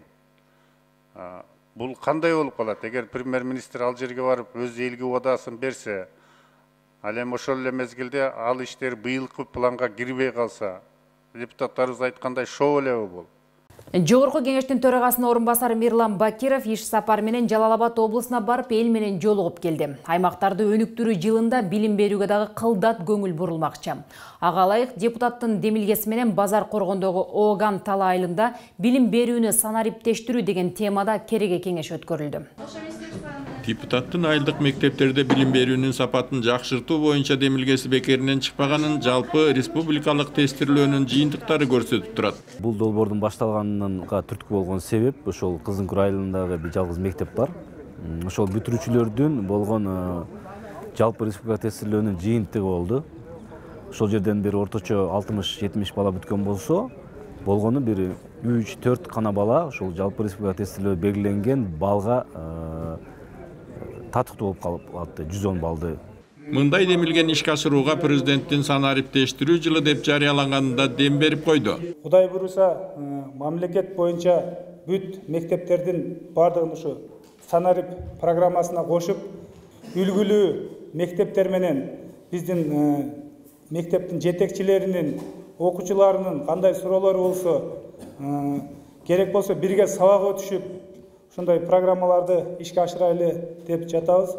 Бул кандай болуп калат? Эгер премьер-министр ал жерге барып өз элге убадасын берсе, ал эми ошол эле мезгилде ал иштер быйылкы планга кирбей калса, депутаттарыбыз айткандай шоу элеби бул? Жогорку кеңештин төрагасынын орун басары Мирлан Бакиров иш сапар менен Жалал Абад облусуна барып эл менен жолугуп келди. Аймактарды өнүктүрүү жылында билим берүүгө дагы кылдат көңүл бурулмакчы. Ага ылайык депутаттын демилгеси менен Базар Коргондогу Ооган Тала айылында билим берүүнү санариптештирүү деген темада кереге кеңеш өткөрүлдү. Депутаттын айылдык мектептерде билим берүүнүн сапатын жакшыртуу боюнча демилгеси бекеринен чыкпаганын жалпы республикалык тестирлөөнүн жыйынтыктары көрсөтүп турат. Бул долбоордун башталганына түрткү болгон себеп ошол Кызылкүр айылындагы бир жалгыз мектеп бар. Ошол бүтүрүүчүлөрдүн болгон жалпы республика тестирлөөнүн жыйынтыгы болду. Ошол жерден бери орточо алтымыш жетимиш бала бүткөн болсо, болгону бир үч төрт гана бала ошол жалпы республика тестирлөө белгиленген балга татыктуу болуп калып атты, жүз он балды. Мындай демилген ишке ашырууга президенттин санариптештирүү жылы деп жарыяланганында дем берип койду. Кудай буйруса, мамлекет боюнча бүт мектептердин бардыгын ушу санарип программасына кошуп, үлгүлүү мектептер менен биздин мектептин жетекчилеринин, окуучуларынын кандай суроолору болсо, керек болсо бирге сабак өтүшүп, ушундай программаларды ишке ашырайлы деп жатабыз.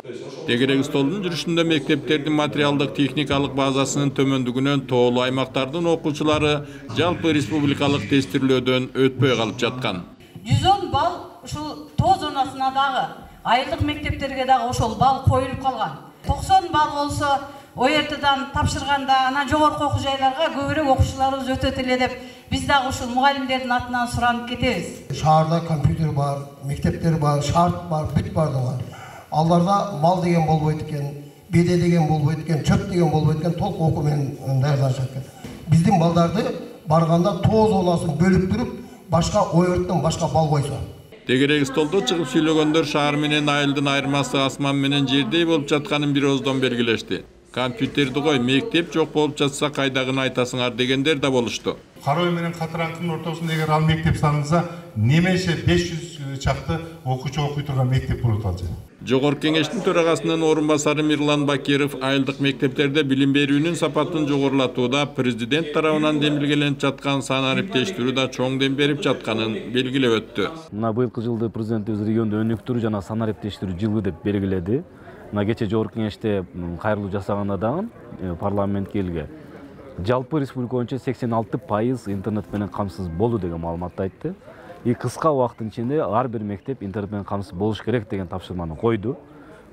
Тегерек столдун жүрүшүндө мектептердин материалдык техникалык базасынын төмөндүгүнөн тоолуу аймактардын окуучулары жалпы республикалык тестирлөөдөн өтпөй калып жаткан. жүз он балл ушул тоо зонасына дагы, айылдык мектептерге дагы ошол балл коюлуп калган. токсон балл болсо О Р Т'дан тапшырганда анан жогорку окуу жайларга көбүрөөк окуучуларыбыз өтөт эле деп биз дагы ушул мугалимдердин атынан суранып кетебиз. Шаарда компьютер бар, мектептер бар, шарт бар, бүт бардыгы. Аларда мал деген болбойт экен, беде деген болбойт экен, чөп деген болбойт экен, толук окуу менен даярданышат экен. Биздин балдарды барганда тоо зонасын бөлүп туруп, башка О Р T'тан башка бал койсо. Тегерек столдо чыгып сүйлөгөндөр шаар менен айылдын айырмасы асман менен жердей болуп жатканын бир ооздон белгилешти. Компьютерди кой, мектеп жок болуп жатса кайдагыны айтасыңар дегендер да болушту. Карой менен Катыраңкынын ортосунда эгер ал мектеп саналса, немесе беш жүз чакты окуучу окуй турган мектеп болот ал жер. Жогорку кеңештин төрагасынын орун басары Мирлан Бакиров айылдык мектептерде билим берүүнүн сапатын жогорулатууда президент тарабынан демилгеленип жаткан санариптештирүү да чоң дем берип жатканын белгилеп өттү. Мына быйылкы жылды президентибиз регионду өнүктүрүү жана санариптештирүү жылы деп белгиледи. Мына кече жогорку кеңеште кайрылуу жасаганда дагы парламентке элге жалпы республика боюнча сексен алты пайыз интернет менен камсыз болду деген маалыматты айтты. И кыска убакыттын ичинде ар бир мектеп интернет менен камсыз болуш керек деген тапшырманы койду.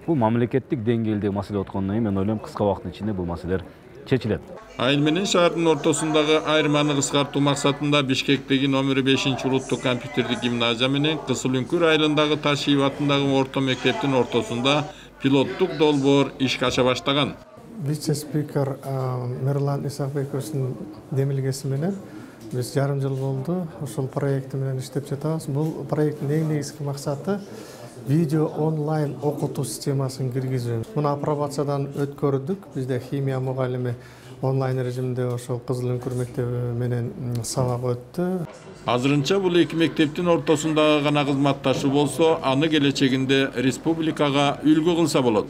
Бул мамлекеттик деңгээлдеги маселе откондон кийин мен ойлойм кыска убакыттын ичинде бул маселелер чечилет. Айыл менен шаардын ортосундагы айырманы кыскартуу максатында Бишкектеги номер бешинчи улуттук компьютердик гимназия менен Кызыл Үңкүр айылындагы Ташиев атындагы орто мектептин ортосунда пилоттук долбоор ишке аша баштаган. Вице-спикер Мирлан Исакбековичтин демилгеси менен биз жарым жыл болду ушул проекти менен иштеп жатабыз. Бул проекттин эң негизги максаты видео онлайн окутуу системасын киргизүү. Муну апробациядан өткөрдүк. Бизде химия мугалими онлайн режимде ошол Кызыл Үңкүр мектеби менен сабак өттү. Азырынча бул эки мектептин ортосундагы гана кызматташуу болсо, аны келечегинде республикага үлгү кылса болот.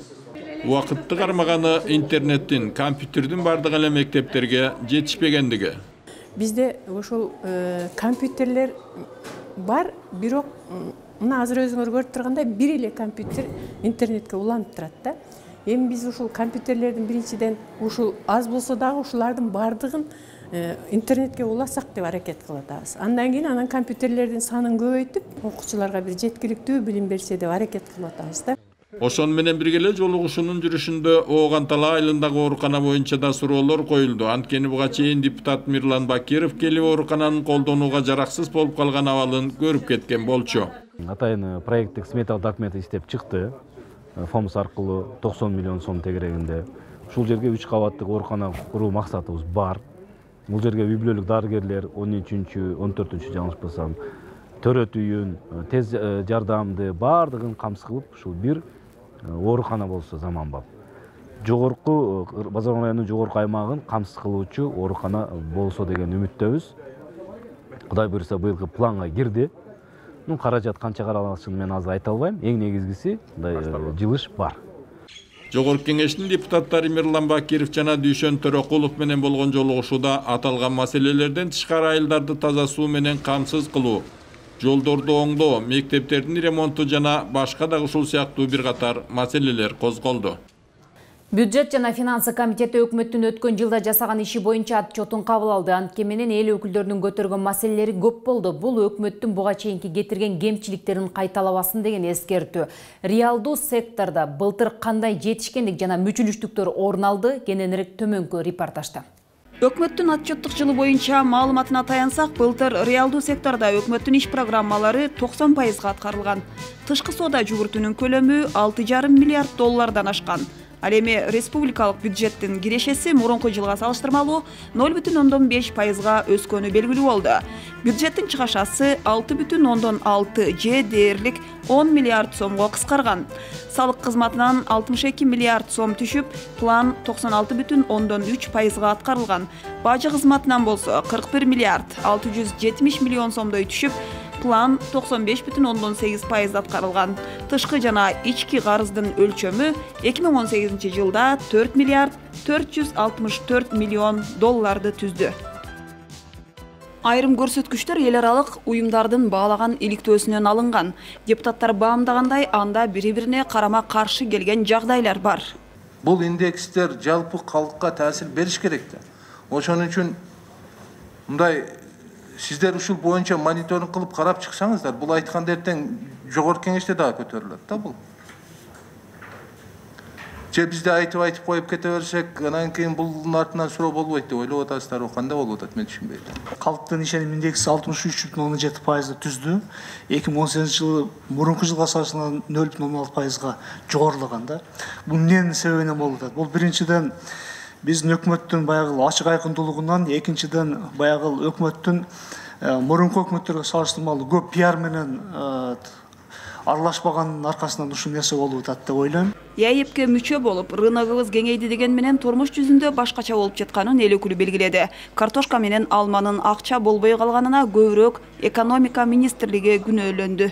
Убакытты кармаганы интернеттин, компьютердин бардык эле мектептерге жетишпегендиги. Бизде ошол компьютерлер бар, бирок мына азыр өзүңөр көрүп тургандай бир эле компьютер интернетке уланып турат да. Эми биз ушул компьютерлердин биринчиден ушул аз болсо дагы ушулардын бардыгын интернетке уласак деп аракет кылып атабыз. Андан кийин анан компьютерлердин санын көбөйтүп, окуучуларга бир жеткиликтүү билим берсе деп аракет кылып атабыз да. Ошон менен бирге эле жолугушуунун жүрүшүндө Оогантала айылындагы оорукана боюнча да суроолор коюлду. Анткени буга чейин депутат Мирлан Бакиров келип оорукананын колдонууга жараксыз болуп калган абалын көрүп кеткен болчу. Атайын проекттик сметалык документ иштеп чыкты. Фомс аркылуу токсон миллион сом тегерегинде. Ушул жерге үч кабаттык оорукана куруу максатыбыз бар. Бул жерге үй бүлөлүк дарыгерлер он үчүнчү, он төртүнчү жаңылышпасам, төрөт үйүн, тез жардамды бардыгын камсыз кылып, ушул бир оорукана болсо заманбап. Жогорку Базаркан районунун жогорку аймагын камсыз кылуучу оорукана болсо деген үмүттөбүз. Кудай буйруса быйылкы планга кирди. Ну, каражат канча каралышын мен азыр айта албайм. Эң негизгиси мындай жылыш бар. Жогорку кеңештин депутаттары Мирлан Бакиров жана Дүйшөн Төрөкулов менен болгон жолугушууда аталган маселелерден тышкары айылдарды таза суу менен камсыз кылуу, жолдорду оңдоо, мектептердин ремонту жана башка дагы ушул сыяктуу бир катар маселелер козголду. Бюджет жана финансы комитети өкмөттүн өткөн жылда жасаган иши боюнча отчетун кабыл алды. Анткени менен эл өкүлдөрүнүн көтөргөн маселелери көп болду. Бул өкмөттүн буга чейинки кетирген кемчиликтерин кайталабасын деген эскертүү. Реалдуу секторда былтыр кандай жетишкендик жана мүчүлүштүктөр орун алды? Кененирээк төмөнкү репортажда. Өкмөттүн отчеттик жылы боюнча маалыматына таянсак, былтыр реалдуу секторда өкмөттүн иш программалары токсон пайызга аткарылган. Тышкы соода жүгүртүүнүн көлөмү алты жарым миллиард доллардан ашкан. Ал эми республикалык бюджеттин кирешеси мурунку жылга салыштырмалуу ноль бүтүн ондон беш пайызга өскөнү белгилүү болду. Бюджеттин чыгашасы алты бүтүн ондон алты же дээрлик он миллиард сомго кыскарган. Салык кызматынан алтымыш эки миллиард сом түшүп, план токсон алты бүтүн ондон үч пайызга аткарылган. Бажы кызматынан болсо кырк бир миллиард алты жүз жетимиш миллион сомдой түшүп, план токсон беш бүтүн ондон сегиз пайыз аткарылган. Тышкы жана ички карыздын өлчөмү эки миң он сегизинчи жылда төрт миллиард төрт жүз алтымыш төрт миллион долларды түздү. Айрым көрсөткүчтөр эл аралык уюмдардын баалаган иликтөөсүнөн алынган. Депутаттар баамдагандай, анда бири-бирине карама каршы келген жагдайлар бар. Бул индекстер жалпы калкка таасир бериш керек да. Ошон үчүн мындай сиздер ушул боюнча мониторинг кылып карап чыксаңыздар, бул айткан эртең жогорку кеңеште дагы көтөрүлөт да бул. Же бизде айтып айтып коюп кете берсек, анан кийин булдун артынан суроо болбойт деп ойлоп атасыздар, кандай болуп атат мен түшүнбөйм. Калктын ишеним индекси алтымыш үч бүтүн ондон жети пайызды түздү. эки миң он сегизинчи жылы мурунку жылга салыштырганда ноль бүтүн ондон алты пайызга жогорулаган да. Бул эмненин себебинен болуп атат? Бул биринчиден биздин өкмөттүн баягы ачык айкындуулугунан, экинчиден баягы өкмөттүн мурунку өкмөттөргө салыштырмалуу көп пиар менен аралашпаганын аркасынан ушул нерсе болуп атат деп ойлойм. ЕАЭПке мүчө болуп, рыногубуз кеңейди деген менен турмуш жүзүндө башкача болуп жатканын эл өкүлү белгиледи. Картошка менен алманын акча болбой калганына көбүрөөк экономика министрлиги күнөөлөндү.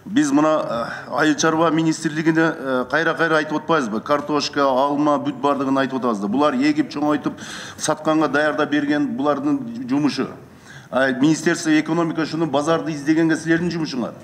Биз мына айыл чарба министрлигине кайра-кайра айтып атпайбызбы? Картошка, алма, бүт бардыгын айтып атабыз да. Булар эгип чоңойтуп, сатканга даярдап берген булардын жумушу. Министерство экономика шуну базарды издегенге силердин жумушуңар.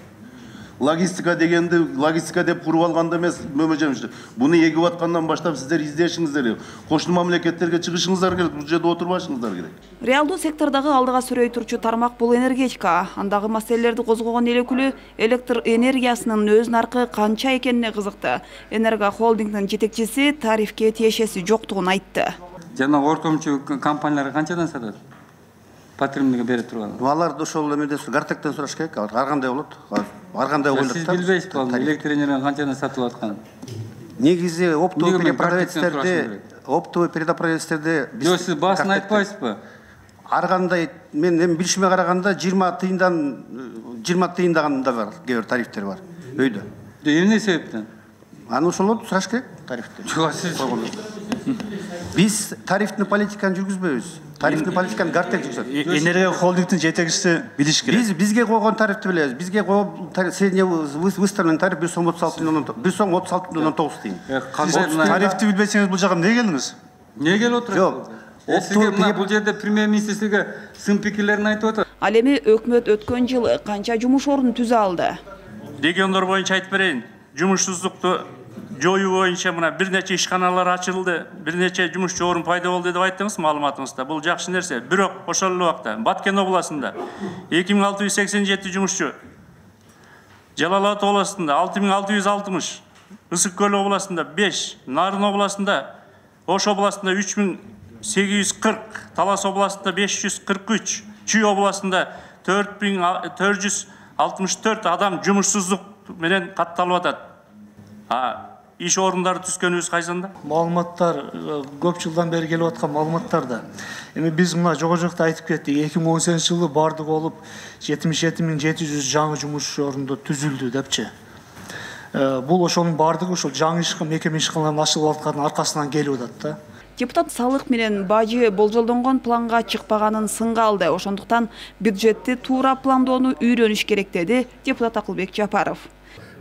Логистика дегенди логистика деп куруп алганда эмес, мөмөжөмүш. Буну эгип аткандан баштап сиздер издешиңиздер керек. Кошуна мамлекеттерге чыгышыңыздар керек, бул жерде отурбашыңыздар керек. Реалдуу сектордагы алдыга сүрөй турчу тармак бул энергетика. Андагы маселелерди козгогон эл өкүлү электр энергиясынын өз наркы канча экенине кызыкты. Энерго холдингдин жетекчиси тарифке тиешеси жоктугун айтты. Жана оркомчу компаниялар канчадан сатат? Патримдиге бере турган. Аларды ошол эмеден Гартектен сураш керек. Ар кандай болот? Ар кандай ойлойт да? Сиз билбейсизби, электр энергияны канчадан сатып атканын? негизи оптовый перепродавецтерде оптовый перепродавецтерде жок, сиз баасын айтпайсызбы? Ар кандай мен эми билишиме караганда жыйырма тыйындан жыйырма тыйындаган да бар, кээ бир тарифтер бар өйдө. Эмне себептен? Аны ошолорду сураш керек тарифти. Жок, сиз биз тарифтин политиканы жүргүзбөйбүз. Тарифтин политиканы Гартек жүргүзөт. Энергия холдингдин жетекчиси билиш керек. Биз бизге койгон тарифти билебиз. Бизге койгон средний выставленный тариф бир сом отуз алты бир сом отуз алты бүтүн ондон тогуз тыйын. Тарифти билбесеңиз бул жака эмне келдиңиз? Эмне келип отурат? Жок. Сизге мына бул жерде премьер-министр сизге сын пикирлерин айтып атат. Ал эми өкмөт өткөн жылы канча жумуш ордун түзө алды? Региондор боюнча айтып берейин. Жумушсуздукту жоюу боюнча мына бир нече ишканалар ачылды, бир нече жумушчу орун пайда болду деп айттыңыз маалыматыңызда. Бул жакшы нерсе. Бирок ошол эле убакта Баткен областында эки миң алты жүз сексен жети жумушчу, Жалал Абад областында алты миң алты жүз алтымыш, Ысык Көл областында беш, Нарын областында, Ош областында үч миң сегиз жүз кырк, Талас областында беш жүз кырк үч, Чүй областында төрт миң төрт жүз алтымыш төрт адам жумушсуздук менен катталып атат. А иш орундары түзгөнүбүз кайсында? Маалыматтар көп жылдан бери келип аткан маалыматтар да. Эми биз мына жогору жакта айтып кеттик, эки миң он сегизинчи жылы бардыгы болуп жетимиш жети миң жети жүз жаңы жумуш орунду түзүлдү депчи. Бул ошонун бардыгы ошол жаңы иш мекеме ишканаларын ачылып аткандын аркасынан келип атат да. Депутат салык менен бажы болжолдонгон планга чыкпаганын сынга алды. Ошондуктан бюджетти туура пландоону үйрөнүш керек деди депутат Акылбек Жапаров.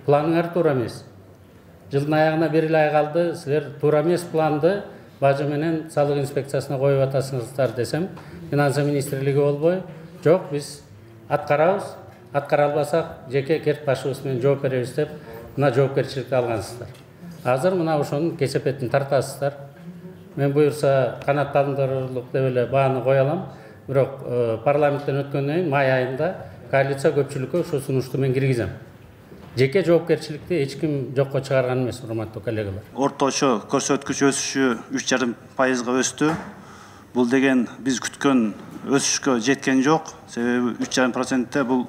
Планыңар туура эмес. Жылдын аягына бир эле ай калды. Силер туура эмес планды бажы менен салык инспекциясына коюп атасыңыздар десем, финансы министрлиги болбой, жок, биз аткарабыз, аткара албасак жеке керт башыбыз менен жооп беребиз деп мына жоопкерчиликти алгансыздар. Азыр мына ошонун кесепетин тартасыздар. Мен буюрса канааттандырылып деп эле бааны кое алам. Бирок парламенттен өткөндөн кийин май айында коалиция көпчүлүккө ушул сунушту мен киргизем. Жеке жоопкерчиликти эч ким жокко чыгарган эмес, урматтуу коллегалар. Орточо көрсөткүч өсүшү үч жарым пайызга өстү. Бул деген биз күткөн өсүшкө жеткен жок. Себеби үч жарым процентте бул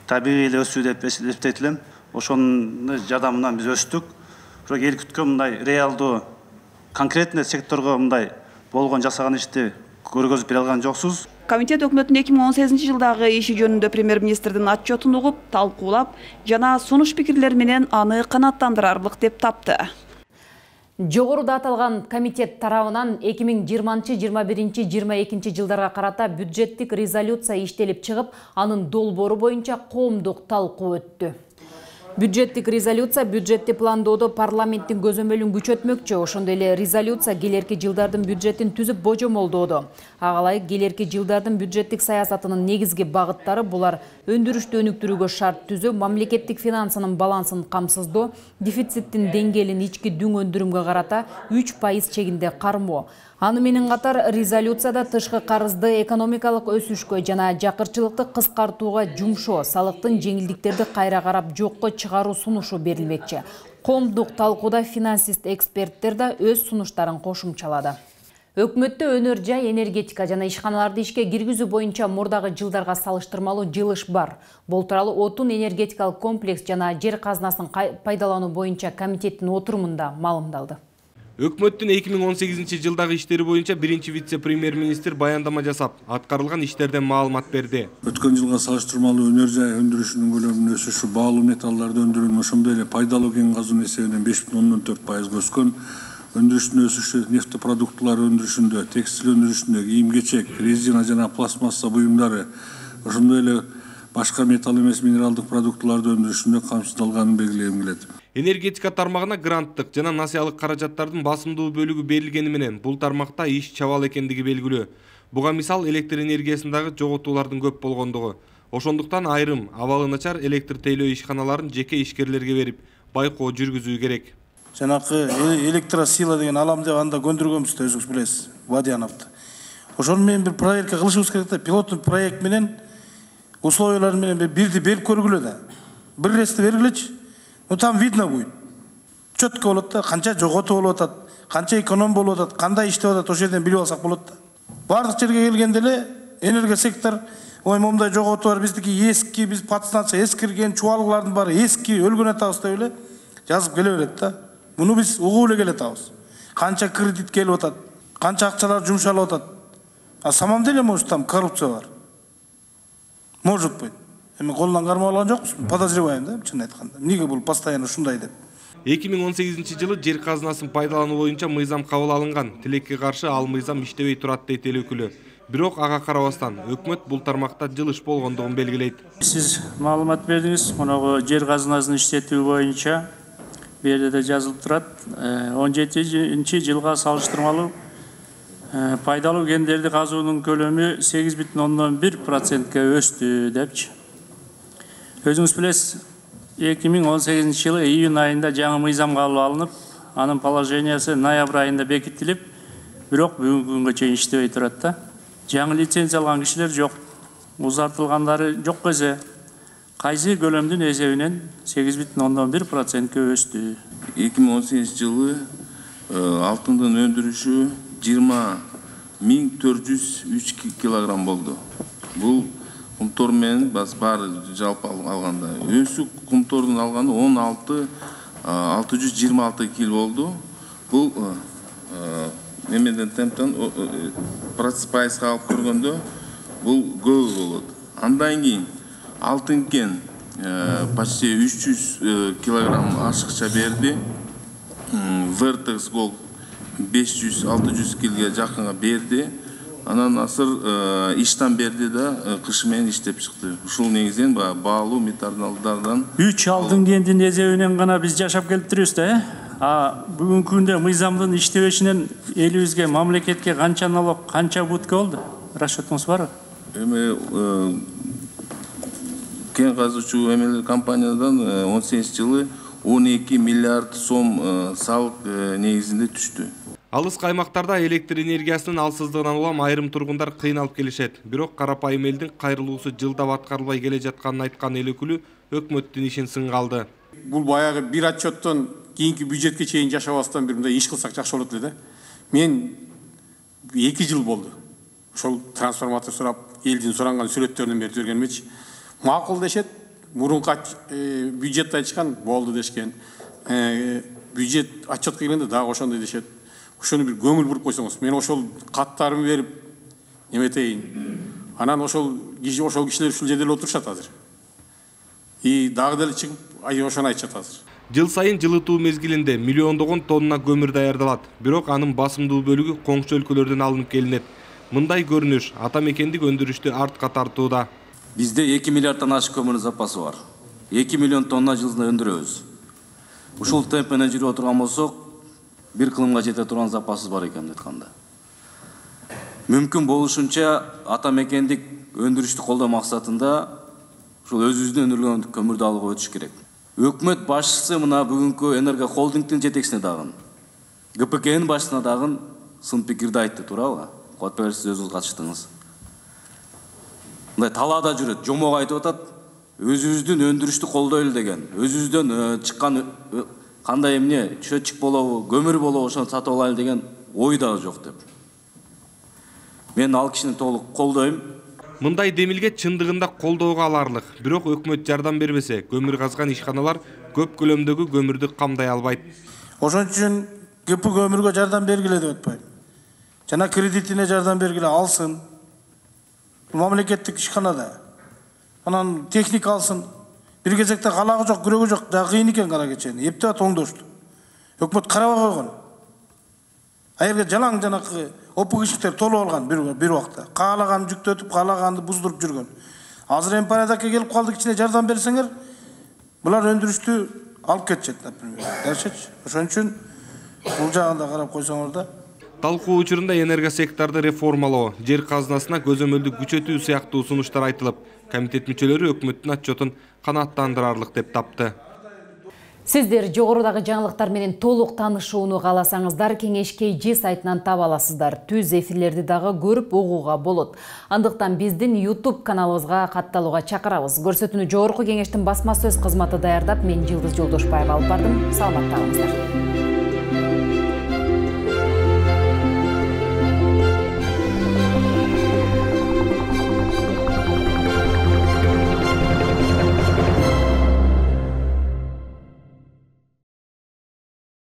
табигый эле өсүү деп эсептетилем. Ошонун жардамынан биз өстүк. Бирок эл күткөн мындай реалдуу конкретный секторго мындай болгон жасаган ишти көргөзүп бере алган жоксуз. Комитет өкмөттүн эки миң он сегизинчи жылдагы иши жөнүндө премьер-министрдин отчетун угуп, талкуулап, жана сунуш пикирлер менен аны канааттандырарлык деп тапты. Жогоруда аталган комитет тарабынан эки миң жыйырманчы жыйырма биринчи жыйырма экинчи жылдарга карата бюджеттик резолюция иштелип чыгып, анын долбоору боюнча коомдук талкуу өттү. Бюджеттик резолюция бюджетти пландоодо парламенттин көзөмөлүн күчөтмөкчү. Ошондой эле резолюция келерки жылдардын бюджетин түзүп божомолдоодо. Ага ылайык келерки жылдардын бюджеттик саясатынын негизги багыттары булар: өндүрүштү өнүктүрүүгө шарт түзүү, мамлекеттик финансынын балансын камсыздоо, дефициттин деңгээлин ички дүң өндүрүмгө карата үч пайыз чегинде кармоо. Аны менен катар резолюцияда тышкы карызды экономикалык өсүшкө жана жакырчылыкты кыскартууга жумшоо, салыктын жеңилдиктерди кайра карап жокко чыгаруу сунушу берилмекчи. Коомдук талкууда финансист эксперттер да өз сунуштарын кошумчалады. Өкмөттө өнөр жай, энергетика жана ишканаларды ишке киргизүү боюнча мурдагы жылдарга салыштырмалуу жылыш бар. Бул тууралуу отун энергетикалык комплекс жана жер казынасын пайдалануу боюнча комитеттин отурумунда маалымдалды. Өкмөттүн эки миң он сегизинчи жылдагы иштери боюнча биринчи вице-премьер-министр баяндама жасап, аткарылган иштерден маалымат берди. Өткөн жылга салыштырмалуу өнөр жай өндүрүшүнүн көлөмүнүн өсүшү, баалуу металларды өндүрүүнүн, ошондой эле пайдалуу кен казуунун эсебинен беш бүтүн ондон төрт пайызга өскөн. Өндүрүштүн өсүшү нефтепродуктулар өндүрүшүндө, текстиль өндүрүшүндө, кийим-кечек, резина жана пластмасса буюмдары, ошондой эле башка металл эмес минералдык продуктуларды өндүрүшүндө камсыздалганын белгилегим келет. Энергетика тармагына гранттык жана насыялык каражаттардын басымдуу бөлүгү берилгени менен бул тармакта иш чабал экендиги белгилүү. Буга мисал электр энергиясындагы жоготуулардын көп болгондугу. Ошондуктан айрым абалы начар электр тейлөө ишканаларын жеке ишкерлерге берип, байкоо жүргүзүү керек. Жанакы электросила деген алам деп анда көндүргөнбүз да, өзүңүз билесиз, Вадияновду. Ошону менен бир проектке кылышыбыз керек да, пилоттук проект менен условиялар менен бирди берип көргүлө да. Бир ресте бергилечи. Ну там видно будет. Четко болот да, канча жоготуу болуп атат, канча эконом болуп атат, кандай иштеп атат, ошол жерден билип алсак болот да. Бардык жерге келгенде эле энергия сектор, ой момундай жоготуу бар, биздики эски, биз подстанция эскирген, чубалгылардын баары эски, өлгөн атабыз деп эле жазып келе берет да. Буну биз угуп эле келатабыз. Канча кредит келип атат, канча акчалар жумшалып атат. А самом деле, может, там коррупция бар. Может быть. Эми колунан кармап алган жокпуз. Подозреваем, да, чын айтканда. Эмнеге бул постоянно ушундай деп? эки миң он сегизинчи жылы жер казынасын пайдалануу боюнча мыйзам кабыл алынган. Тилекке каршы ал мыйзам иштебей турат дейт эл өкүлү. Бирок ага карабастан өкмөт бул тармакта жылыш болгондугун белгилейт. Сиз маалымат бердиңиз, мунагу жер казынасын иштетүү боюнча бу жерде да жазылып турат. он жетинчи жылга салыштырмалуу пайдалуу кендерди казуунун көлөмү сегиз бүтүн ондон бир процентке өстү депчи. Өзүңүз билесиз, эки миң он сегизинчи жылы июнь айында жаңы мыйзам кабыл алынып, анын положениясы ноябрь айында бекитилип, бирок бүгүнкү күнгө чейин иштебей турат да. Жаңы лицензия алган кишилер жок, узартылгандары жок эсе. Кайсы көлөмдүн эсебинен сегиз бүтүн ондон бир процентке өстү. эки миң он сегизинчи жылы алтындын өндүрүшү жыйырма миң төрт жүз үч килограмм болду. Бул кумтор менен баары жалпы алганда өсүк кумтордун алганы он алты алты жүз жыйырма алты кил болду. Бул немеден темптен пайызга алып көргөндө бул көп болот. Андан кийин алтын кен почти үч жүз килограмм ашыкча берди. Vertex Gold беш жүз алты жүз килге жакынга берди. Анан асыр иштан берди да кышы менен иштеп чыкты. Ушул негизинен баалуу металлдардан үч алтын кендин эсебинен гана биз жашап келиптирбиз да, э? А бүгүнкү күндө мыйзамдын иштебешинен элибизге, мамлекетке канча налог, канча убытка болду? Расчетуңуз барбы? Эми кен казуучу эмелер компаниядан он сегизинчи жылы он эки миллиард сом салык негизинде түштү. Алыс каймактарда электр энергиясынын алсыздыгынан улам айрым тургундар кыйналып келишет. Бирок карапайым элдин кайрылуусу жылдап аткарылбай келе жатканын айткан эл өкүлү өкмөттүн ишин сынга алды. Бул баягы бир отчеттон кийинки бюджетке чейин жашабастан бир мындай иш кылсак жакшы болот эле да. Мен эки жыл болду. Ошол трансформатор сурап, элдин суранган сүрөттөрүн берип жибергенмечи. Макул дешет, мурунку бюджетти айтышкан болду дешкен. Бюджет отчетко келгенде дагы ошондой дешет. Ошону бир көңүл буруп койсоңуз, мен ошол каттарымы берип неметейин. Анан ошол киши ошол кишилер ушул жерде эле отурушат азыр. И дагы деле чыгып, ай ошону айтышат азыр. Жыл сайын жылытуу мезгилинде миллиондогон тонна көмүр даярдалат. Бирок анын басымдуу бөлүгү коңшу өлкөлөрдөн алынып келинет. Мындай көрүнүш ата мекендик өндүрүштү артка тартууда. Бизде эки миллиарддан ашык көмүр запасы бар. эки миллион тонна жылына өндүрөбүз. Ушул темп менен жүрүп отурган болсок, бир кылымга жете турган запасыбыз бар экен айтканда. Мүмкүн болушунча ата мекендик өндүрүштү колдоо максатында ушул өзүбүздүн өндүрүлгөн көмүрдү алууга өтүш керек. Өкмөт башчысы мына бүгүнкү Энерго холдингдин жетекчисине дагы, Г П Книн башчысына дагы сын пикирди айтты, туурабы? Куатбек сиз өзүңүз катыштыңыз. Мындай талаада жүрөт, жомок айтып атат, өзүбүздүн өндүрүштү колдойлу деген, өзүбүздөн чыккан кандай эмне, чөчүк болобу, көмүр болобу, ошону сатып алайлы деген ой дагы жок деп. Мен ал кишини толук колдойм. Мындай демилге чындыгында колдоого аларлык. Бирок өкмөт жардам бербесе, көмүр казган ишканалар көп көлөмдөгү көмүрдү камдай албайт. Ошон үчүн Г П көмүргө жардам бергиле деп атпайм. Жана кредитине жардам бергиле, алсын. Мамлекеттик ишканада. Анан техника алсын. Бир кезекте калагы жок, күрөгү жок, да кыйын экен кара кечени. Эптеп тоңдошту. Өкмөт карабай койгон. Айырга жалаң жанакы опук ишиктер толуп алган бир бир убакта. Каалаган жүктөтүп, каалаганды буздуруп жүргөн. Азыр эми порядокко келип калды, кичине жардам берсеңер, булар өндүрүштү алып кетишет, например. Дашечи. Ошон үчүн бул жагында карап койсоңор да. Талкуу учурунда энергосекторду реформалоо, жер казынасына көзөмөлдү күчөтүү сыяктуу сунуштар айтылып, комитет мүчөлөрү өкмөттүн отчетун канааттандырарлык деп тапты. Сиздер жогорудагы жаңылыктар менен толук таанышууну кааласаңыздар, Кеңеш кей жи сайтынан таба аласыздар. Түз эфирлерди дагы көрүп угууга болот. Андыктан биздин YouTube каналыбызга катталууга чакырабыз. Көрсөтүүнү Жогорку Кеңештин басма сөз кызматы даярдап, мен Жылдыз Жолдошбаева алып бардым. Саламатта калыңыздар.